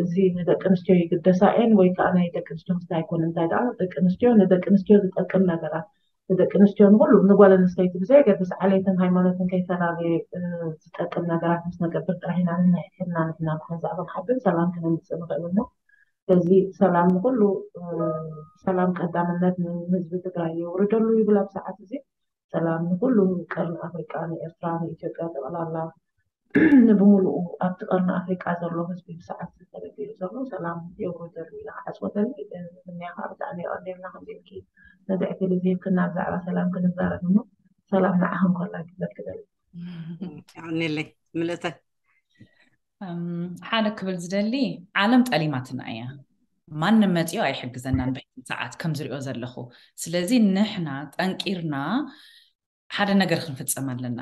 እዚ ንደቂ ኣንስትዮ ይግደሳ እየን ወይ ከዓ ናይ ደቂ ኣንስትዮ ክስታይ ኣይኮነ እንታይ ደኣ ደቂ ኣንስትዮ ንደቂ ኣንስትዮ ዝጠቅም ነገራት ንደቂ ኣንስትዮ ንኩሉ ንጓል ኣንስተይቲ ብዘየገድስ ዓሌትን ሃይማኖትን ከይፈላለየ ዝጠቅም ነገራት ምስ ነገብር ጥራሕ ኢና ንንሕሕድና ንሕና ብሓንሳእ ክንሓብር ሰላም ክነምፅእ ንኽእል እሞ ስለዚ ሰላም ንኩሉ ሰላም ቀዳምነት ንህዝቢ ትግራይ የውርደሉ ይብል ኣብ ሰዓት እዚ ሰላም ንኩሉ ቀርኒ ኣፍሪቃ ንኤርትራ ንኢትዮጵያ ጠቕላላ ንብሙሉኡ ኣብቲ ቀርኒ ኣፍሪቃ ዘሎ ህዝቢ ብሰዓት ዝተበደሉ ዘሎ ሰላም የውርደሉ ኢለ ክዓፅወተኒ ምንያ ከዓ ብጣዕሚ የቐንየልና ከምዚ ኢልኪ ነዚ ዕድል እዚ ሂብክና ብዛዕባ ሰላም ክንዛረብ እሞ ሰላም ንዓኽን ኮላ ግዘት ክደል የቐንየለይ ምልእተ ሓደ ክብል ዝደሊ ዓለም ጠሊማትና እያ ማንም መፂኦ ኣይሕግዘናን ብሕቲ ሰዓት ከም ዝሪኦ ዘለኹ ስለዚ ንሕና ጠንቂርና ሓደ ነገር ክንፍፀም ኣለና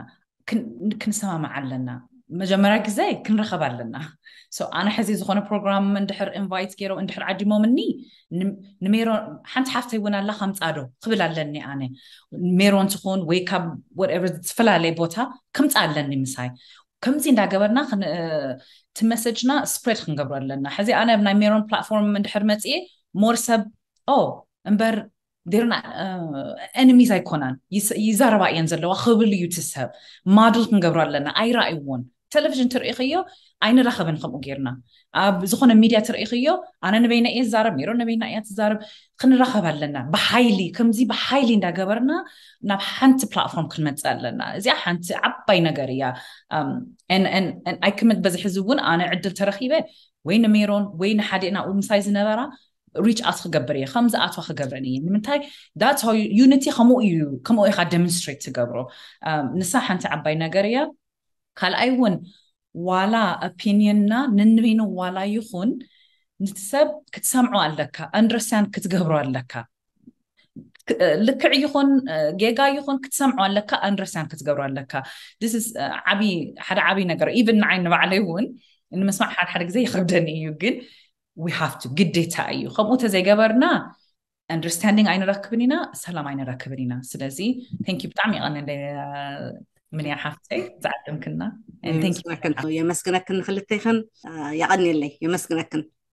ክንሰማማዕ ኣለና መጀመርያ ግዜ ክንረኸብ ኣለና ኣነ ሕዚ ዝኾነ ፕሮግራም እንድሕር ኢንቫይት ገይሮም እንድሕር ዓዲሞምኒ ንሜሮን ሓንቲ ሓፍተይ እውን ኣላ ከምፃዶ ክብል ኣለኒ ኣነ ሜሮን ትኹን ወይ ካብ ወቨር ዝተፈላለየ ቦታ ከምፃ ኣለኒ ምሳይ ከምዚ እንዳገበርና እቲ መሰጅና ስፕሬድ ክንገብሮ ኣለና ሕዚ ኣነ ኣብ ናይ ሜሮን ፕላትፎርም እንድሕር መፅኤ ሞር ሰብ ኦ እምበር ዴርና ኤኒሚስ ኣይኮናን ይዛረባ እየን ዘለዋ ክብል እዩ ትሰብ ማድል ክንገብሮ ኣለና ኣይረኣይዎን ቴሌቪዥን ትርእኽዮ ኣይንራኸብን ከምኡ ጌርና ኣብ ዝኾነ ሚድያ ትርእኽዮ ኣነ ንበይና እየ ዝዛረብ ሜሮን ንበይና እያ ትዛረብ ክንራኸብ ኣለና ብሓይሊ ከምዚ ብሓይሊ እንዳገበርና ናብ ሓንቲ ፕላትፎርም ክንመፅእ ኣለና እዚኣ ሓንቲ ዓባይ ነገር እያ ኣይክምት በዚ ሕዚ እውን ኣነ ዕድል ተረኪበ ወይ ንሜሮን ወይ ንሓደ ናብኡ ምሳይ ዝነበራ ሪች ኣውት ክገብር እየ ከም ዝኣትዋ ክገብረን እየ ንምንታይ ዳትስ ዩኒቲ ከምኡ እዩ ከምኡ ኢካ ደምንስትሬት ትገብሮ ንሳ ሓንቲ ዓባይ ነገር እያ ካልኣይ እውን ዋላ ኦፒኒየንና ንንበይኑ ዋላ ይኹን ንቲ ሰብ ክትሰምዖ ኣለካ ኣንደርስታንድ ክትገብሮ ኣለካ ልክዕ ይኹን ጌጋ ይኹን ክትሰምዖ ኣለካ ኣንደርስታንድ ክትገብሮ ኣለካ ዓቢ ሓደ ዓቢ ነገር ኢቨን ንዓይ ንባዕለይ እውን ንምስማዕ ሓደ ሓደ ግዜ ይኸብደኒ እዩ ግን we have to ግዴታ እዩ ከምኡ ተዘይገበርና ኣንደርስታንዲንግ ኣይንረክብን ኢና ሰላም ኣይንረክብን ኢና ስለዚ ቴንክ ብጣዕሚ ይቐንለ ምንያ ሓፍተይ ዝዓደምክና የመስግነክን ንክልተይክን የቐንየለይ የመስግነክን